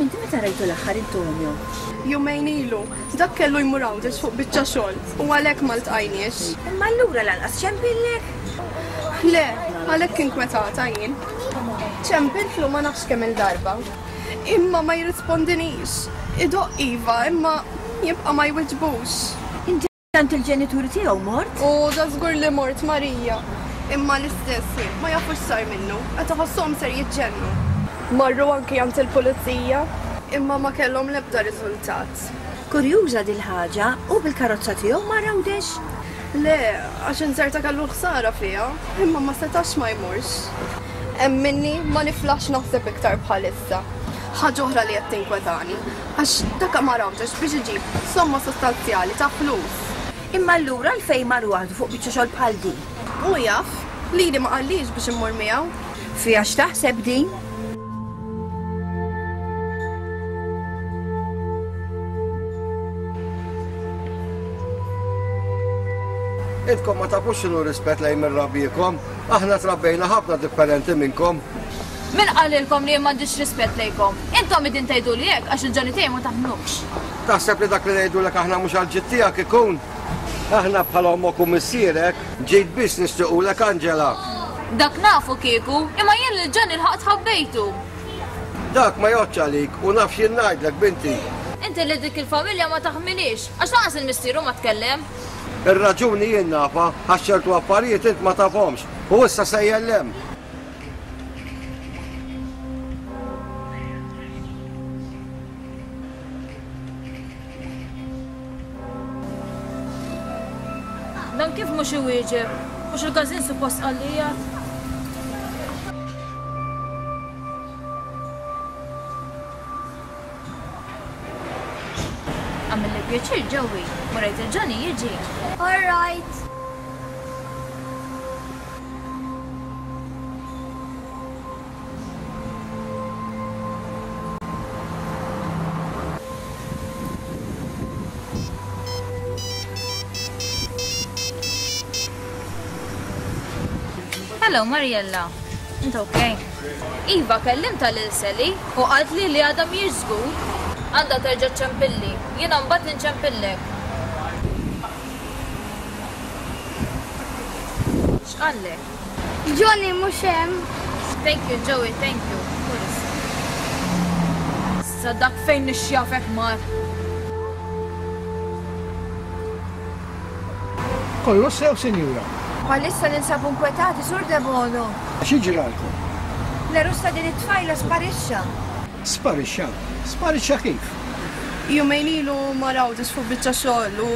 Meta rajtu l-aħħar Antonio? Jumejn ilu, dak kellu jmur Għawdex fuq biċċa xogħol u għalhekk ma ltqajniex. Imma allura lanqas ċempillek? Le, għalhekk inkwetata jien. Ċempiltlu ma nafx kemm il-darba. Imma ma jirrispondinix. Idoq iva, imma jibqa' ma jwiġbux. Inti għand il-ġenituri tiegħu mort? U da żgur li mort Marija. Imma l-istess ma jafux sar minnu, qed iħossuhom ser jiġġennu. Marru anki għand il-pulizija, imma ma kellhom l-ebda riżultat. Kurjuża dil-ħaġa, u bil-karozza tiegħu ma rawdex? Le, għax inzerta kellu ħsara fiha, imma ma setax ma jmurx. Emminni ma niflax naħseb iktar bħalissa. Ħaġa oħra li qed tinkwetani, għax dak ma rawdex biex iġib somma sostanzjali ta' flus. Imma allura għalfejn mar waħdu fuq biċċa xogħol bħal din? U jaf, lili ma qallix biex immur miegħu. Fiha x'taħseb din? Intkom ma tafux x'inhu rispett lejn mirrabiekom, aħna trabbejna ħafna differenti minnkom. Min qalilkom li m'għandix rispett lejkom? Intom idin tgħidu li hekk għax il-ġani tiegħi ma taħnux. Taħseb li dak li ngħidulek aħna mhux għall-ġid tiegħek ikun? Aħna bħala ommok u missierek ġejt biss nixtiequlek Angela. Dak nafu kieku, imma jien lil Ġani l-ħaqt ħabbejtu. Dak ma jgħodx għalik u naf x'jien ngħidlek binti. Inti li dik il-familja ma taħmilix, għax lanqas il-missieru ma tkellem. Ir-raġuni jien nafa għax ċertu affarijiet int ma tafhomx u issa sejjellem. Dan kif mhux iwieġeb? Mhux il-każin suppost qalli Għamilli pjaċir ġewwi, murajt il-Ġani jiġi. All right. Hello Mariella, inta okay? Iva, kellimtha lil Sally u qaltli li għadha mhijiex żgur. Għandha terġa' ċċempilli. Jiena mbagħad inċempillek. X'qallek? Johnny mhux hemm. Thank you Joey, thank you. Mur issa. Issa dak fejn nixjafek mar. Kollox sew, sinjura. Bħalissa ninsabu nkwetati, Sur Debono. Xi ġralkom? L-għerus ta' din it-tfajla sparixxa. Sparixxa? Sparixxa kif? Jumejn ilu mar Għawdex fuq biċċa xogħol u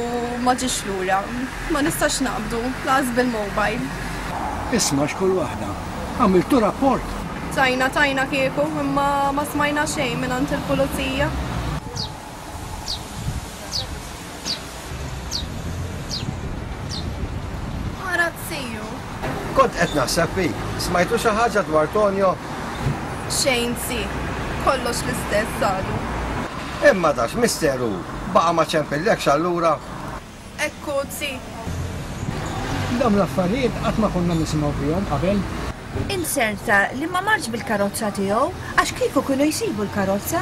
ma ġiex lura. Ma nistax naqbdu, lanqas bil-mobile. Isma' x'kull waħda. Għamiltu rapport? Tajna tajna kieku, imma ma smajna xejn mingħand il-pulizija. Ara t-siju. Kont qed naħseb fik. Smajtu xi ħaġa dwar Tonio? Xejn zi. Kollox l-istess għadu. Imma dax misteru, baqa' ma ċempillekx allura? Ekku zi. Dawn l-affarijiet qatt ma konna nisimgħu fihom qabel. Inserta li ma marx bil-karozza tiegħu għax kieku kienu jsibu l-karozza.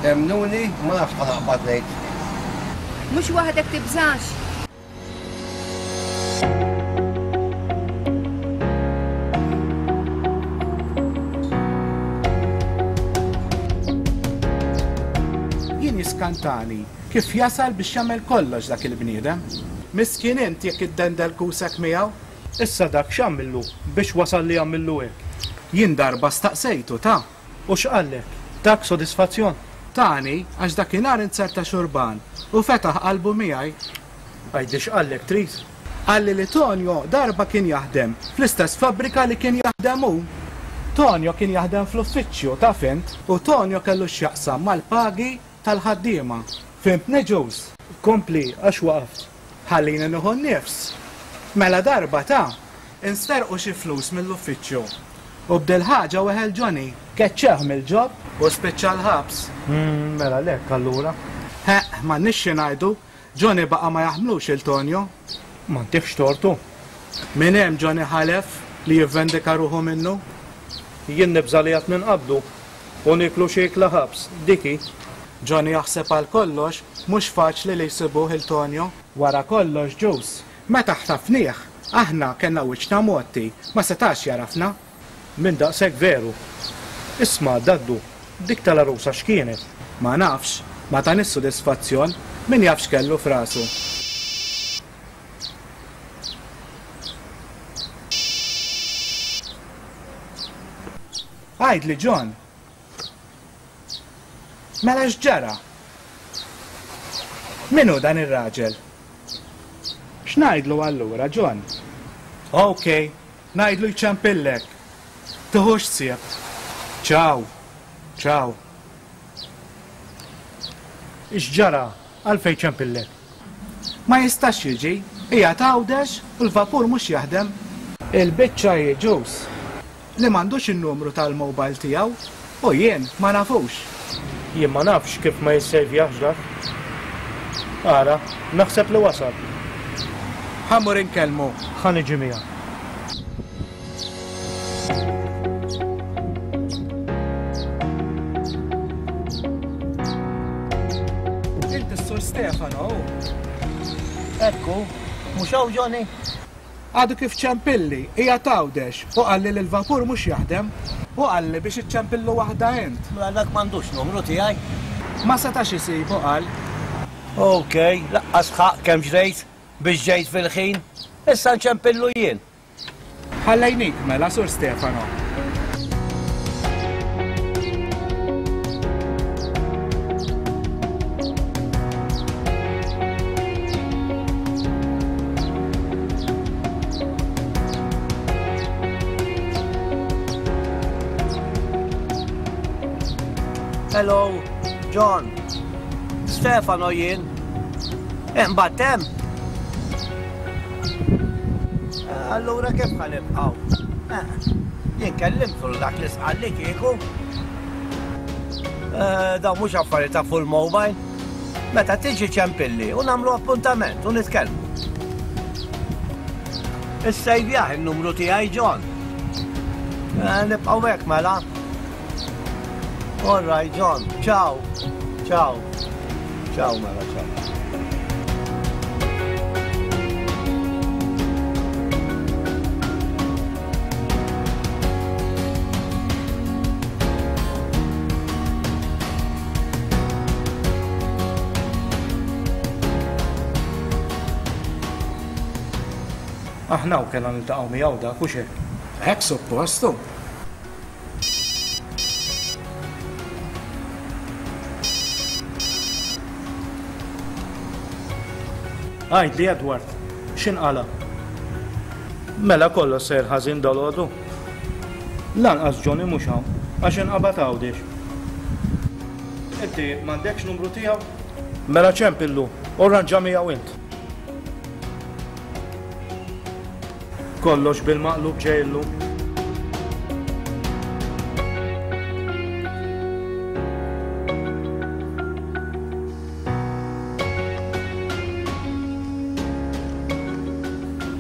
Emmnuni, ma nafx x'ħa naqbad ngħid. Mhux waħdek tibżax. Jien jiskantani kif jasal biex jagħmel kollox dak il-bniedem. Miskin int jekk iddendel kusek miegħu. Issa dak x'għamillu biex wasal li għamillu hekk? Jien darba staqsejtu ta'. U x'qallek? Dak sodisfazzjon? Tani għax dakinhar inzerta xurban u fetaħ qalbu miegħi. Għidli x'qallek trid? Qalli li Tonio darba kien jaħdem fl-istess fabbrika li kien jaħdem hu. Tonio kien jaħdem fl-uffiċċju taf int u Tonio kellu x'jaqsam mal-pagi tal-ħaddiema. Fhimtni Ġuż? Kompli għax waqaft. Ħallini nieħu n-nifs. Mela darba ta' insterqu xi flus mill-uffiċċju. U b'dil-ħaġa weħel Johnny. Keċċeh mill-ġob u spiċċa l-ħabs. Mm, mela lek allura. Ħeqq, m'għandniex xi ngħidu, Johnny baqa' ma jaħmlux il Tonio. Ma ntihx tortu. Minn hemm Johnny ħalef li jivvendika ruħu minnu. Jien nibża' li għad ninqabdu u nieklu xi ikla ħabs, dik hi. Johnny jaħseb għal kollox, mhux faċli li jsibuh il Tonio. Wara kollox Ġuż, meta ħtafnieh, aħna kellna wiċċna mgħotti, ma setax jagħrafna. Minn daqshekk veru. Isma', Daddu, dik tal-għarusa x'kienet? Ma nafx, ma tanix sodisfazzjon, min jaf x'kellu f'rasu. Għidli John. Mela x'ġara? Min hu dan ir-raġel? X'ngħidlu allura, John? Ok, ngħidlu jċempillek. Tiħux ħsieb. Ciao. Ciao. X'ġara? Għalfejn ċempillek? Ma jistax jiġi, qiegħed Għawdex u l-vapur mhux jaħdem. Il-biċċa hi ġuż li m'għandux in-numru tal-mobile tiegħu u jien ma nafux. Jien ma nafx kif ma jissejvjahx dak. Ara, naħseb li wasal. Ħa mmur inkellmu. Ħa niġi miegħek. Inti s-Sur Stefano, hu? Ekku, mhux hawn Johnny? Għadu kif ċempilli, qiegħed Għawdex u qalli li l-vapur mhux jaħdem. U qalli biex iċċempillu waħda int. Mela dak m'għandux numru tiegħi. Ma setax isibu qal. Ok, laqqas ħaqq kemm ġrejt biex ġejt fil-ħin. Issa nċempillu jien. Ħallejnik mela, Sur Stefano. Hello, John. Stefano jien. Imbagħad hemm. Allura kif ħa nibqgħu? Jien kellimtu l dak li sqalli kieku. Dawn mhux affarijiet ta' full mobile. Meta tiġi ċempilli u nagħmlu appuntament u nitkellmu. Issejvjah in-numru tiegħi John. Nibqgħu hekk mela. All right, John. Ciao. Ciao. Ciao mela, ciao. Aħna u kellna niltaqgħu miegħu dak u xejn. Hekk suppostu. Għidli Edward, x'inqala? Mela kollox sejr ħażin dalgħodu. Lanqas Johnny mhux hawn, għax inqabad Għawdex. Inti m'għandekx numru tiegħu? Mela ċempillu, u rranġa miegħu int. Kollox bil-maqlub ġejlu.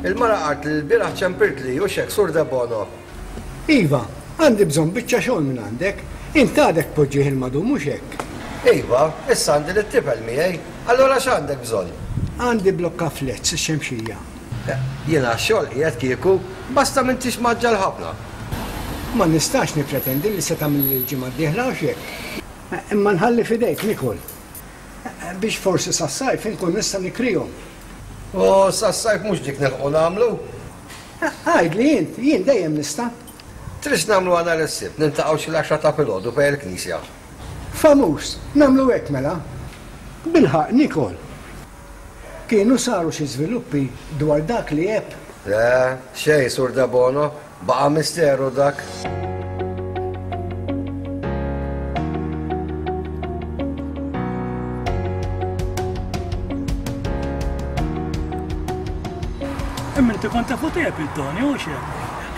Il-mara qalt li l-bieraħ ċempirtli u xek Sur Debono. Iva, għandi bżonn biċċa xogħol minn għandek. Int għadek poġġih il-madum mhux hekk. Iva, issa għandi lit-tifel miegħi. Allura x'għandek bżonn? Għandi blokka flets ix-xemxija. Jiena x-xogħol qiegħed kieku, basta m'intix maġġal ħafna. Ma nistax nippretendi li se tagħmel il-ġimgħa d-dieħla u x'hekk. Imma nħalli f'idejk Nikol. Biex forsi sas-sajf inkun nista' nikrihom. U sas-sajf mhux dik nilħqu nagħmlu. Għidli int, jien dejjem nista'. Tridx nagħmlu nhar is-Sibt, niltaqgħu xi l-għaxra ta' filgħodu fejn il-knisja. Famuż, nagħmlu hekk mela. Bilħaq Nikol. Kienu saru xi żviluppi dwar dak li għeb? Le, xejn Sur Debono, baqa' misteru dak. Imma inti kont tafu tiegħek il-Tony u xejn.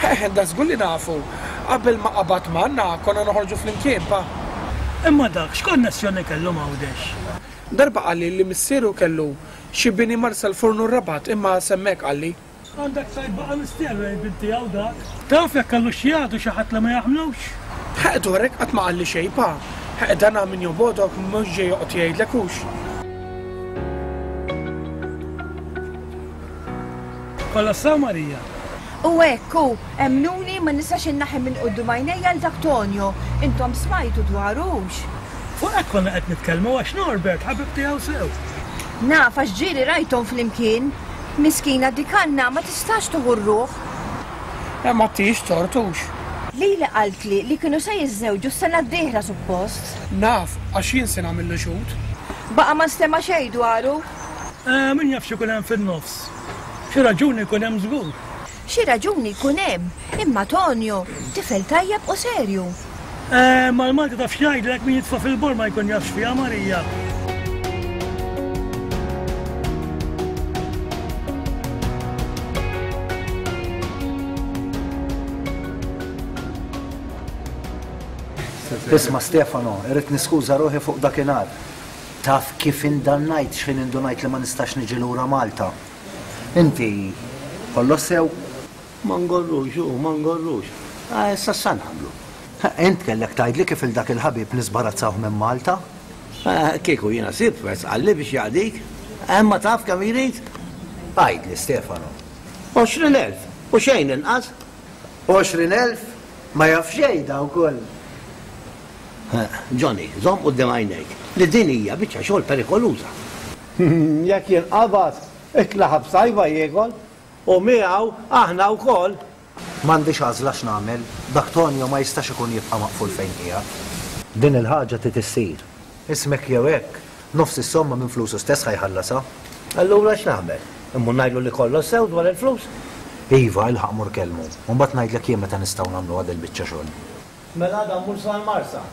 Eh, da żgur li nafu. Qabel ma qabad manna konna noħorġu flimkien pa. Imma dak x'konnessjoni kellu m'Għawdex? Darba qalli li missieru kellu xi bini Marsa l-Fornu r-Rabat imma semmek qalli. Għandek sajt baqa' misteru lejn binti hawn dak. Taf jekk kellu xi jgħadu xi ħadd li ma jaħmlux? Ħeq dwarek qatt ma qalli xejn pa. Ħeq dan min jobodok mhux ġej joqgħod jgħidlek hux. Kollha sew Marija. U hekk hu, emmnuni ma nistax innaħi minn quddiem għajnejja l dak Tonio. Intom smajtu dwarux. Fuq hekk konna qed nitkellmu għax Norbert ħabib tiegħu sew. Naf għax ġieli rajthom flimkien. Miskina dik Anna ma tistax tuħu r-ruħ. Ma tix tortux. Lili qaltli li kienu se jiżżewġu s-sena d-dieħla suppost. Naf għax jien se nagħmillu xhud. Baqa' ma nstema' xejn dwaru. Min jaf x'ikun hemm fin-nofs. Xi raġuni jkun hemm żgur. Xi raġuni jkun hemm, imma Tonio tifel tajjeb u serju. Ma l-Malti taf x'jgħidlek min jitfa' fil-bor ma jkun jafx fiha Marija. Isma' Stefano, irrid niskuża ruħi fuq dakinhar. Taf kif indannajt x'ħin indunajt li ma nistax niġi lura Malta. Inti kollox sew? Ma ngorrux, u ma ngorrux. Issa sa nagħmlu. Int kellek tgħidli kif il dak il-ħabib nisbarazzawh minn Malta? Kieku jiena sib qalli biex jaqdik. Imma taf kemm jrid? Għidli Stefano. Għoxrin elf u xejn inqas. Għoxrin elf? Ma jaf xejn da wkoll. Johnny, żomm quddiem għajnejk li din hija biċċa xogħol perikoluża. Jekk jinqabad, ikla ħabsajba jiekol u miegħu aħna wkoll. M'għandix għażla x'nagħmel, dak Tonio ma jistax ikun jibqa' maqful fejn qiegħed. Din il-ħaġa trid issir. Ismek jew hekk, nofs is-somma minn flusu stess ħajħallasha. Allura x'nagħmel? Immur ngħidlu li kollox sew dwar il-flus? Iva, ilħaq mur kellmu. U mbagħad ngħidlek jien meta nistgħu nagħmlu għad il-biċċa xogħol. Mela għadha mmur sal-Marsa.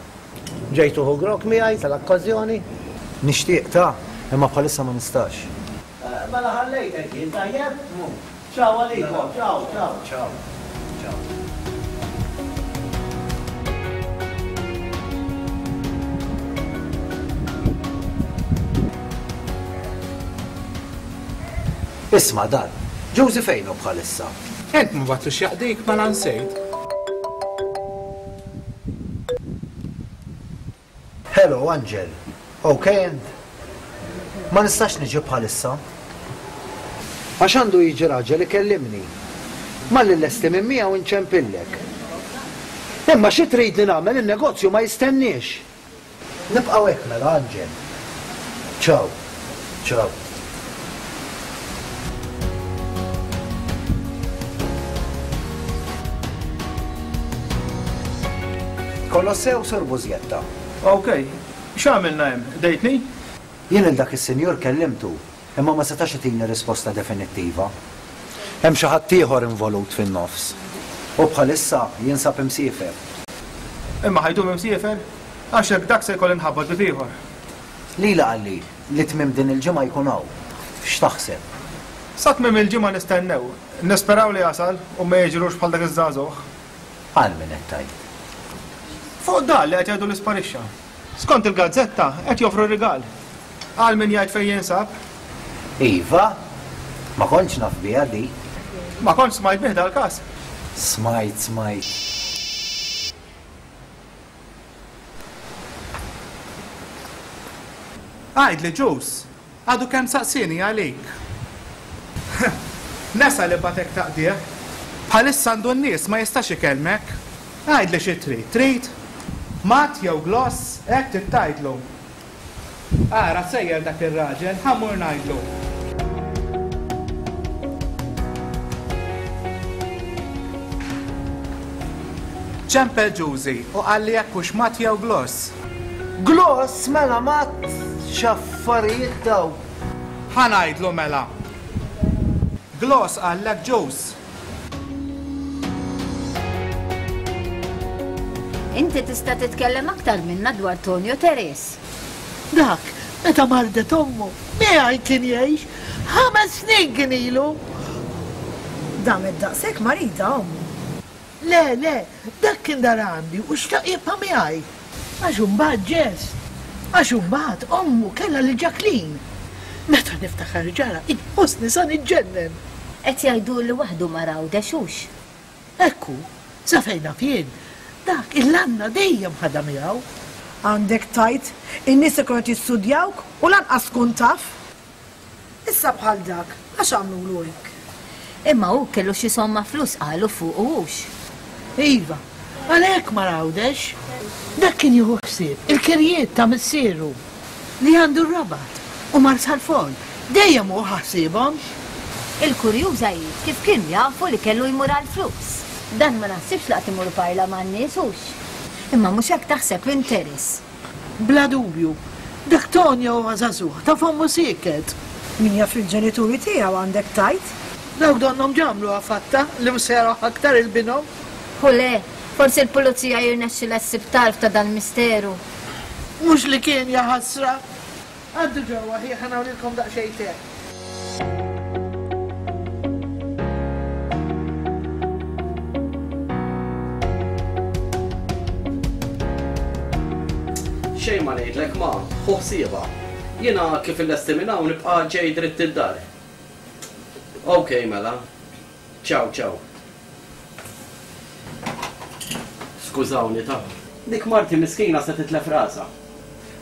Ġejtu hu grok miegħi tal-okkażjoni? Nixtieq ta' imma bħalissa ma nistax. Mela ħallejtek jien tajjeb? Ciao għalikom, ciao, ciao. Ciao. Ciao. Isma' dan, Josie fejnu bħalissa? Ent ma batlux jaqdik ma lansejt. Hello, Angel. Okay, int? Ma nistax niġi bħalissa. Għax għandu jiġi raġel ikellimni. Malli llesti minn miegħu nċempillek. Imma xi tridni nagħmel in-negozju ma jistenniex. Nibqgħu hekk mela, Angel. Ciao. Ciao. Kollox sew, Sur Bużjetta. Okej, x'għamilna hemm? Dejtni? Jien lil dak is-sinjur kellimtu, imma ma setax itini risposta definittiva. Hemm xi ħadd ieħor involut fin-nofs. U bħalissa jinsab imsiefer. Imma ħajdum imsiefer? Għax hekk dak se jkolli nħabbat bib ieħor. Lila qalli li tmiem din il-ġimgħa jkun hawn. X'taħseb? Sa tmiem il-ġimgħa nistennew. Nisperaw li jasal u ma jiġrux bħal dak iż-żagħżugħ. Għal min qed tgħid? Fuq dan li qed jgħidu li sparixxa. Skont il-gazzetta qed joffru rigal. Għal min jgħid fejn jinsab. Iva, ma kontx naf biha di. Ma kontx smajt bih dal-każ. Smajt, smajt. Għidli Ġus, għadu kemm saqsini għalik. Nesa li batek taqdih. Bħalissa għandu n-nies ma jistax ikellmek. Għidli xi trid, trid? Mat jew gloss, hekk trid tgħidlu. Ara sejjer dak ir-raġel, ħa mmur ngħidlu. Ċempel Ġużi u qalli jekk hux mat jew gloss. Gloss mela mat x'affarijiet daw. Ħa ngħidlu mela. Gloss qallek Ġuż. Inti tista' titkellem aktar minna dwar Tonio Teres. Dak, meta mardet ommu, miegħi kien jgħix, ħames snin kien ilu. Damet daqshekk marida ommu. Le, le, dak kien dar għandi u xtaq jibqa' miegħi. Għax imbagħad ġest, għax imbagħad ommu kellha lil Jacqueline. Meta niftakar ġara, inħossni sa niġġennen. Qed jgħidu li waħdu ma rawdex hux. Ekku, sa fejn naf jien, dak il-lanna dejjem ħadha miegħu. Għandek tajt, in-nies ikunu qed jistudjawk u lanqas tkun taf. Issa bħal dak, għax għamlulu hekk. Imma hu kellu xi somma flus qalu fuq hux. Iva, għalhekk ma rawdex. Dak kien jieħu ħsieb il-kirjiet ta' missieru li għandu r-Rabat u Marsalforn, dejjem hu ħassibhom. Il-kurjuża hi kif kienu jafu li kellu jmur għall-flus. Dan ma naħsibx laqt imur parla man-nies hux. Imma mhux hekk taħseb interess. Bla dubju, dak Tonio huwa żagħżugħ ta' fommu sieket. Min jaf il-ġenituri tiegħu għandek tajt? Dawk donnhom ġamlu għafatta li mhux se jaraw aktar il-binhom. U le, forsi l-pulizija jirnexxilha ssib tarf ta' dan misteru. Mhux li kien ja ħasra. Għaddu ġewwa ħi ħa nagħmlilkom daqsxejn te. Xejn ma ngħidlek ma, ħu ħsiebha. Jiena kif illesti minn hawn nibqa' ġej dritt id-dar. Okej mela. Ciao ciao. Skużawni ta'. Dik marti miskina se titlef rasha.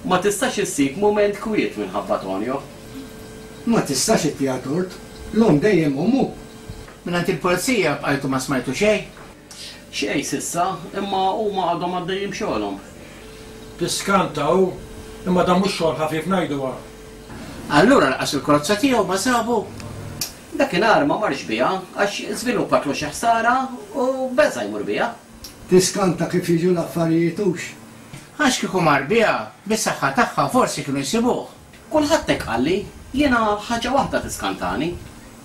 Ma tistax issib mument kwiet minħabba Tonio. Ma tistax ittiha tort, l-omm dejjem ommu. Mingħand il-pulizija bqajtu ma smajtu xejn? Xejn sissa, imma huma għadhom għaddejjin b'xogħolhom. Tiskanta hu, imma dan mhux xogħol ħafif ngħiduha. Allura laqas il-karozza tiegħu ma sabu. Dakinhar ma marx biha għax żviluppatlu xi ħsara u beża' jmur biha. Tiskanta kif jiġu l-affarijiet hux. Għax kieku mar biha, bis-saħħa tagħha forsi kienu jsibuh. Kulħadd hekk qalli, jiena ħaġa waħda tiskantani.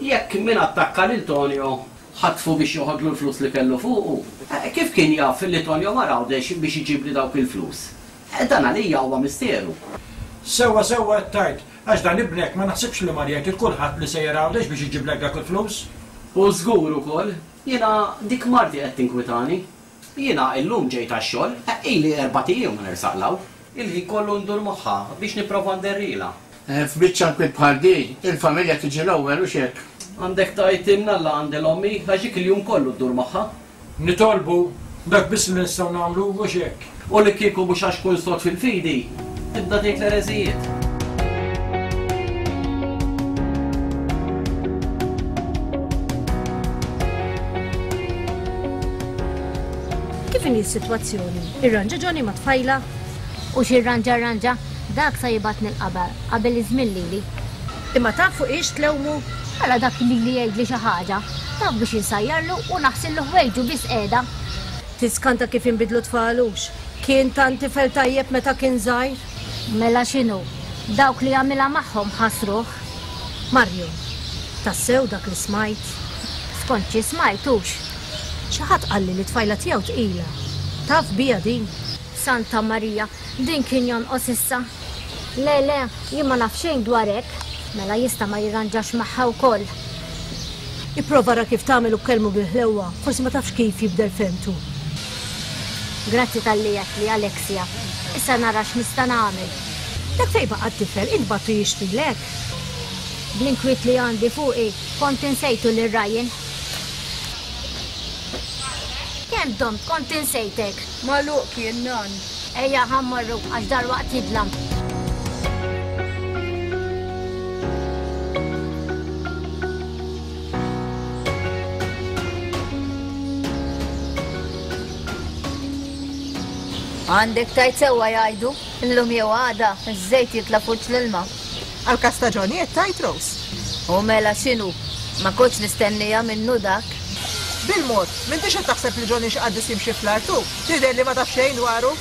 Jekk min attakka lil Tonio ħatfu biex joħodlu l-flus li kellu fuqu, kif kien jaf li Tonio mar Għawdex biex iġibli dawk il-flus? Dan għalija huwa misteru. Sewwa sewwa qed tgħid, għax dan ibnek ma naħsibx li mar jgħid lil kulħadd li sejjer Għawdex biex iġiblek dak il-flus. U żgur ukoll, jiena dik marti qed tinkwitani. Jiena illum ġejt għax-xogħol, ili erbat ijiem ma nersaq law. Il-ħin kollu ndur magħha biex nipprova nderrilha. F'biċċa nkwiet bħal din, il-familja tiġi l-ewwel u x'hekk. Għandek tgħid imnalla għandi l-ommi għax dik il-jum kollu ddur magħha. Nitolbu, dak biss li nistgħu nagħmlu u x'hekk. U li kieku mhux għax kun sod fil-fidi, tibda tgħid l-ereżijiet. Kif inhi s-sitwazzjoni? Irranġa Johnny ma' tfajla? U x'irranġa rranġa, dak sa jibgħatni l-qabar qabel iż-żmien lili. Imma taf fuq ix tlewmu? Mela dak lili jgħidli xi ħaġa. Taf biex insajjarlu u naħsillu ħwejġu biss qiegħda. Tiskanta kif inbidlu tfalux. Kien tant tifel tajjeb meta kien żgħir. Mela x'inhu? Dawk li għamilha magħhom ħasruh. Mario, tassew dak li smajt? Skont xi smajt hux. Xi ħadd qalli li tfajla tiegħu tqila. Taf bija din? Santa Marija, din kien jonqos issa. Le, le, jien ma naf xejn dwar hekk. Mela jista' ma jirranġax magħha wkoll. Ipprova ra kif tagħmel u kellmu bil-ħlewwa, forsi ma tafx kif jibdel fehmtu. Grazzi talli għedtli, Alexia. Issa nara x'nista' nagħmel. Dak fejn baqa' t-tifel, int bagħtu jixtrilek. Bl-inkwiet li għandi fuqi, kont insejtu lil Ryan. Kemm domt kont insejtek? Magħluq kien nan. Ejja ħa mmorru għax dalwaqt jidlam. Għandek tajt sewwa jgħidu, illum jew għada, iż-żejt jitla' fuq l-ilma. Għal-każ ta' Johnny qed tgħid Rose. U mela x'inhu? Ma kontx nistennija minnu dak. Bil-mod, m'intix qed taħseb li Johnny xi qaddis jimxi fl-artu, tidher li ma taf xejn dwaru.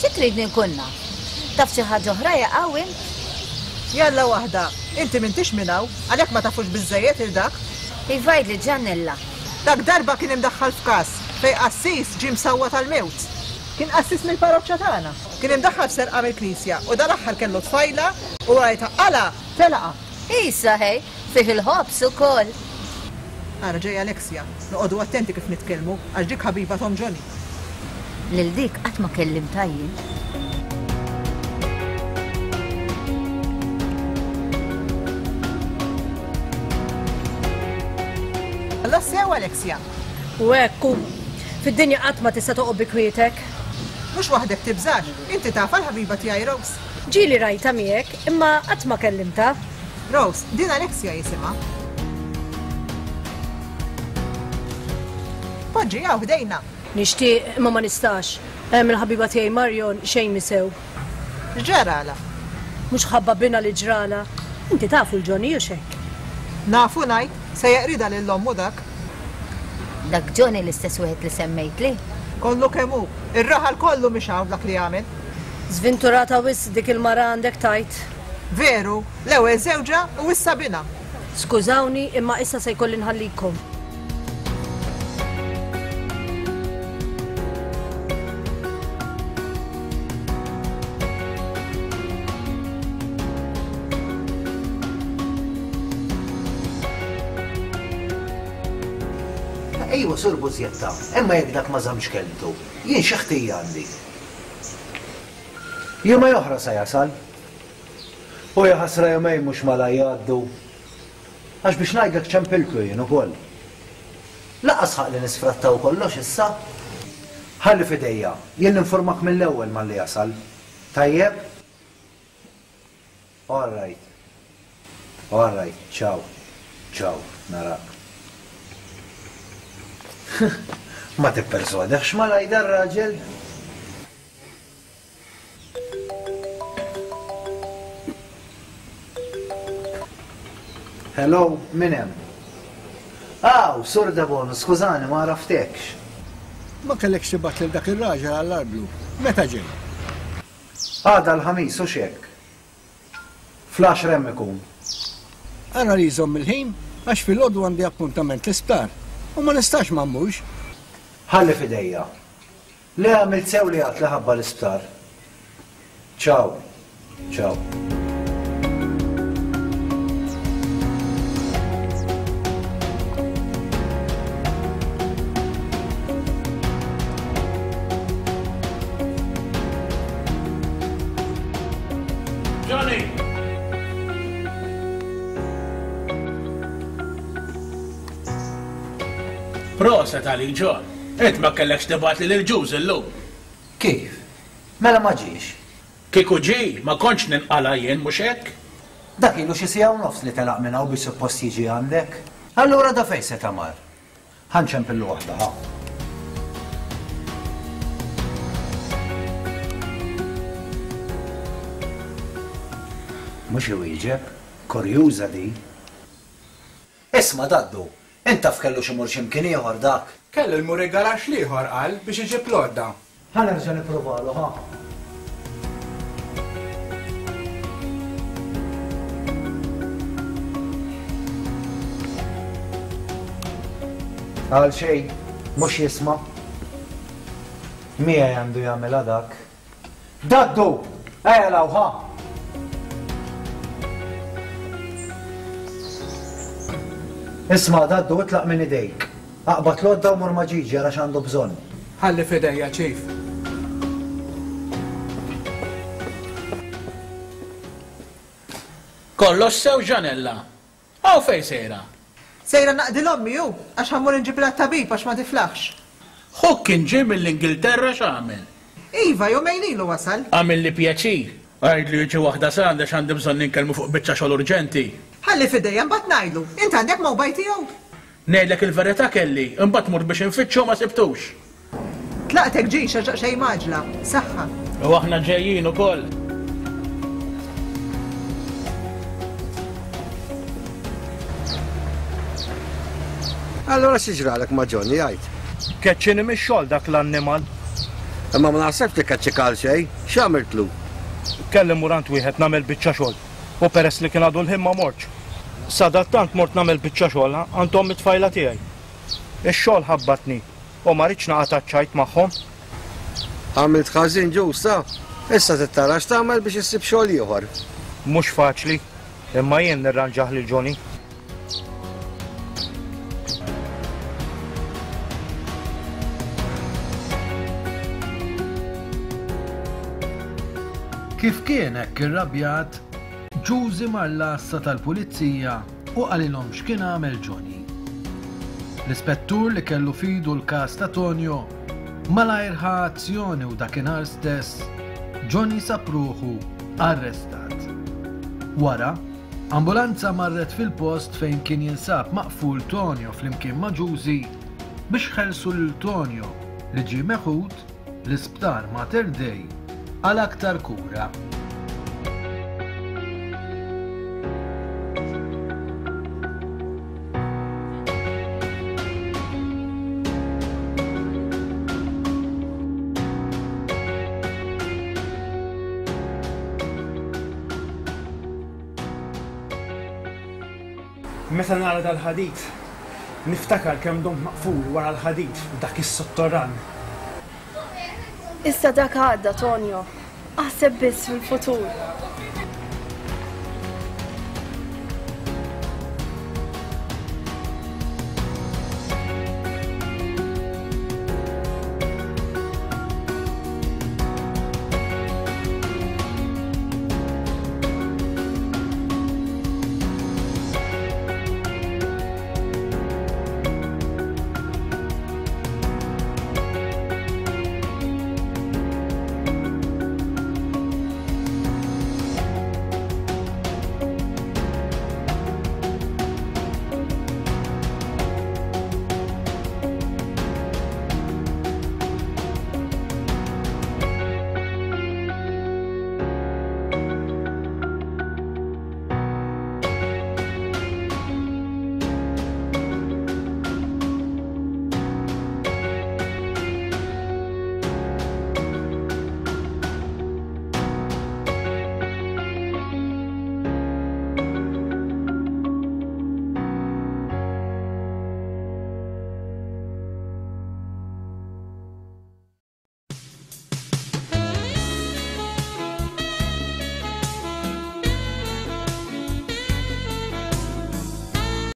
Xi tridni nkun naf? Taf xi ħaġa oħra jaqaw int? Jalla waħda, inti m'intix minn hawn, għalhekk ma tafux biżżejjed il dak. Iva għidli Ġannella. Dak darba kien imdaħħal f'każ fejn qassis ġie msawwat għall-mewt. Kien qassis mill-parroċċa tagħna. Kien imdaħħal f'serqa mill-knisja u dal-aħħar kellu tfajla u wara li taqqalha telaqha. Isa ħej, fih il-ħobż ukoll. Ara ġejja Alexia, noqogħdu attenti kif nitkellmu għax dik ħabiba Tom Johnny. Lil dik qatt ma kellimtha jien. Alla sew Alexia. U hekk hu. Fid-dinja qatt ma tista' toqgħod bi kwietek. Mhux waħdek tibżax, inti tafha l-ħabiba tiegħi Rose. Ġieli rajtha miegħek, imma qatt ma kellimtha. Rose, din Alexia jisimha. Poġġi hawn ħdejna. Nixtieq imma ma nistax. Hemm il-ħabiba tiegħi Marion xejn misew. X'ġarala? Mhux ħabba bina li ġrala. Inti tafu l-Johnny u x'hekk. Nafu ngħid, se jeqridha lil ommu dak. Dak Johnny l-istess wieħed li semmejtli? Kollu kemm hu, ir-raħal kollu mhix hawn dak li għamel. Żvinturata wisq dik il-mara għandek tajt. Veru, l-ewwel żewġha u issa binha. Skużawni, imma issa se jkolli nħallikom. Ejwa, Sur Bużjetta, imma jekk dak ma żammx kelmtu, jien xi ħtija għandi. Jumej oħra sa jasal. U ja ħasra jumej mhux malaj jgħaddu. Għax biex ngħidlek ċempiltlu jien ukoll. Lanqas ħaq li nisfrattaw kollox issa. Ħalli f'idejja, jien ninformak mill-ewwel malli jasal. Tajjeb? All right. All right, ciao. Ciao, narak. Ma tipperswadekx malaj dar-raġel? Hello, min hemm? Aw, Sur Debono, skużani, ma għaraftekx. Ma kellekx tibgħat lil dak ir-raġel għall-arblu. Meta ġej? Għada l-Ħamis u x'hekk. Fl-għaxra hemm ikun. Ara li jżomm il-ħin għax filgħodu għandi appuntament l-isptar u ma nistax ma mmurx. Ħalli f'idejja. Le għamilt sew li għad li ħabba l-isptar. Ciao. Ciao. Johnny! Proset għalik, John. Int ma kellekx tibgħat li lil Ġuż illum. Kif? Mela ma ġiex? Kieku ġie, ma kontx ninqala' jien, mhux hekk? Dak ilu xi siegħa u nofs li telaq minn hawn biex suppost jiġi għandek. Allura da fejn seta' mar? Ħa nċempillu waħda, ħa. Mhux iwieġeb, kurjuża din. Isma' Daddu, int taf kellux imur xi mkien ieħor dak? Kellu jmur il-garaxx l-ieħor qal biex iġib l-għodda. Ħa nerġa' nippruvalu, ħa. Għal xejn, mhux jisma'. Miegħi għandu jagħmilha dak. Daddu! Ejja 'l hawn, ħa! Isma' Daddu, itlaq minn idejk. Aqbad l-għodda u mur ma' Ġiġi ara x'għandu bżonn. Ħalli f'idejja, Chief. Kollox sew Ġanella. Hawn fejn sejra? Sejra naqdi l-ommi hu, għax ħa mmur inġibilha t-tabib għax ma tiflaħx. Ħuk kien ġie mill-Ingilterra x'għamel? Iva, jumejn ilu wasal. Għamilli pjaċir. Għidlu jiġi waħda sa għandi għax għandi bżonn inkellmu fuq biċċa xogħol urġenti. Ħalli f'idejja mbagħad ngħidlu. Int għandek mobile tiegħu? Ngħidlek il-verità kelli, imbagħad mort biex infittxu ma sibtux. Tlaqtek ġix għax daqsxejn mgħaġġla. Saħħa. U aħna ġejjin ukoll. Allura xi ġralek ma' Johnny għid? Keċċini mix-xogħol dak l-annimal. Imma ma naħsebx li keċċik għal xejn, x'għamiltlu? Kelli mmur għand wieħed nagħmel biċċa xogħol u peress li kien għadu l-ħin ma mortx. Sadattant mort nagħmel biċċa xogħol għand omm it-tfajla tiegħi. Ix-xogħol ħabbatni u ma ridtx naqa' taċ-ċajt magħhom. Għamilt ħażin ġusta, issa trid tara x'tagħmel biex issib xogħol ieħor. Mhux faċli, imma jien nirranġah lil Johnny. Kif kien hekk irrabjat, Ġużi mar l-għassa tal-pulizija u qalilhom x'kien għamel Johnny. L-ispettur li kellu f'idu l-każ ta' Tonio malajr ħa azzjoni u dakinhar stess Johnny sab ruħu arrestat. Wara, ambulanza marret fil-post fejn kien jinsab maqful Tonio flimkien ma' Ġużi biex ħelsu lil Tonio li ġie meħud l-isptar Mater Dei għal aktar kura. Meta nara dal-ħadid, niftakar kemm domt maqful wara l-ħadid f'dak is-sottorran. Issa dak għadda, Tonio. Aħseb biss fil-futur.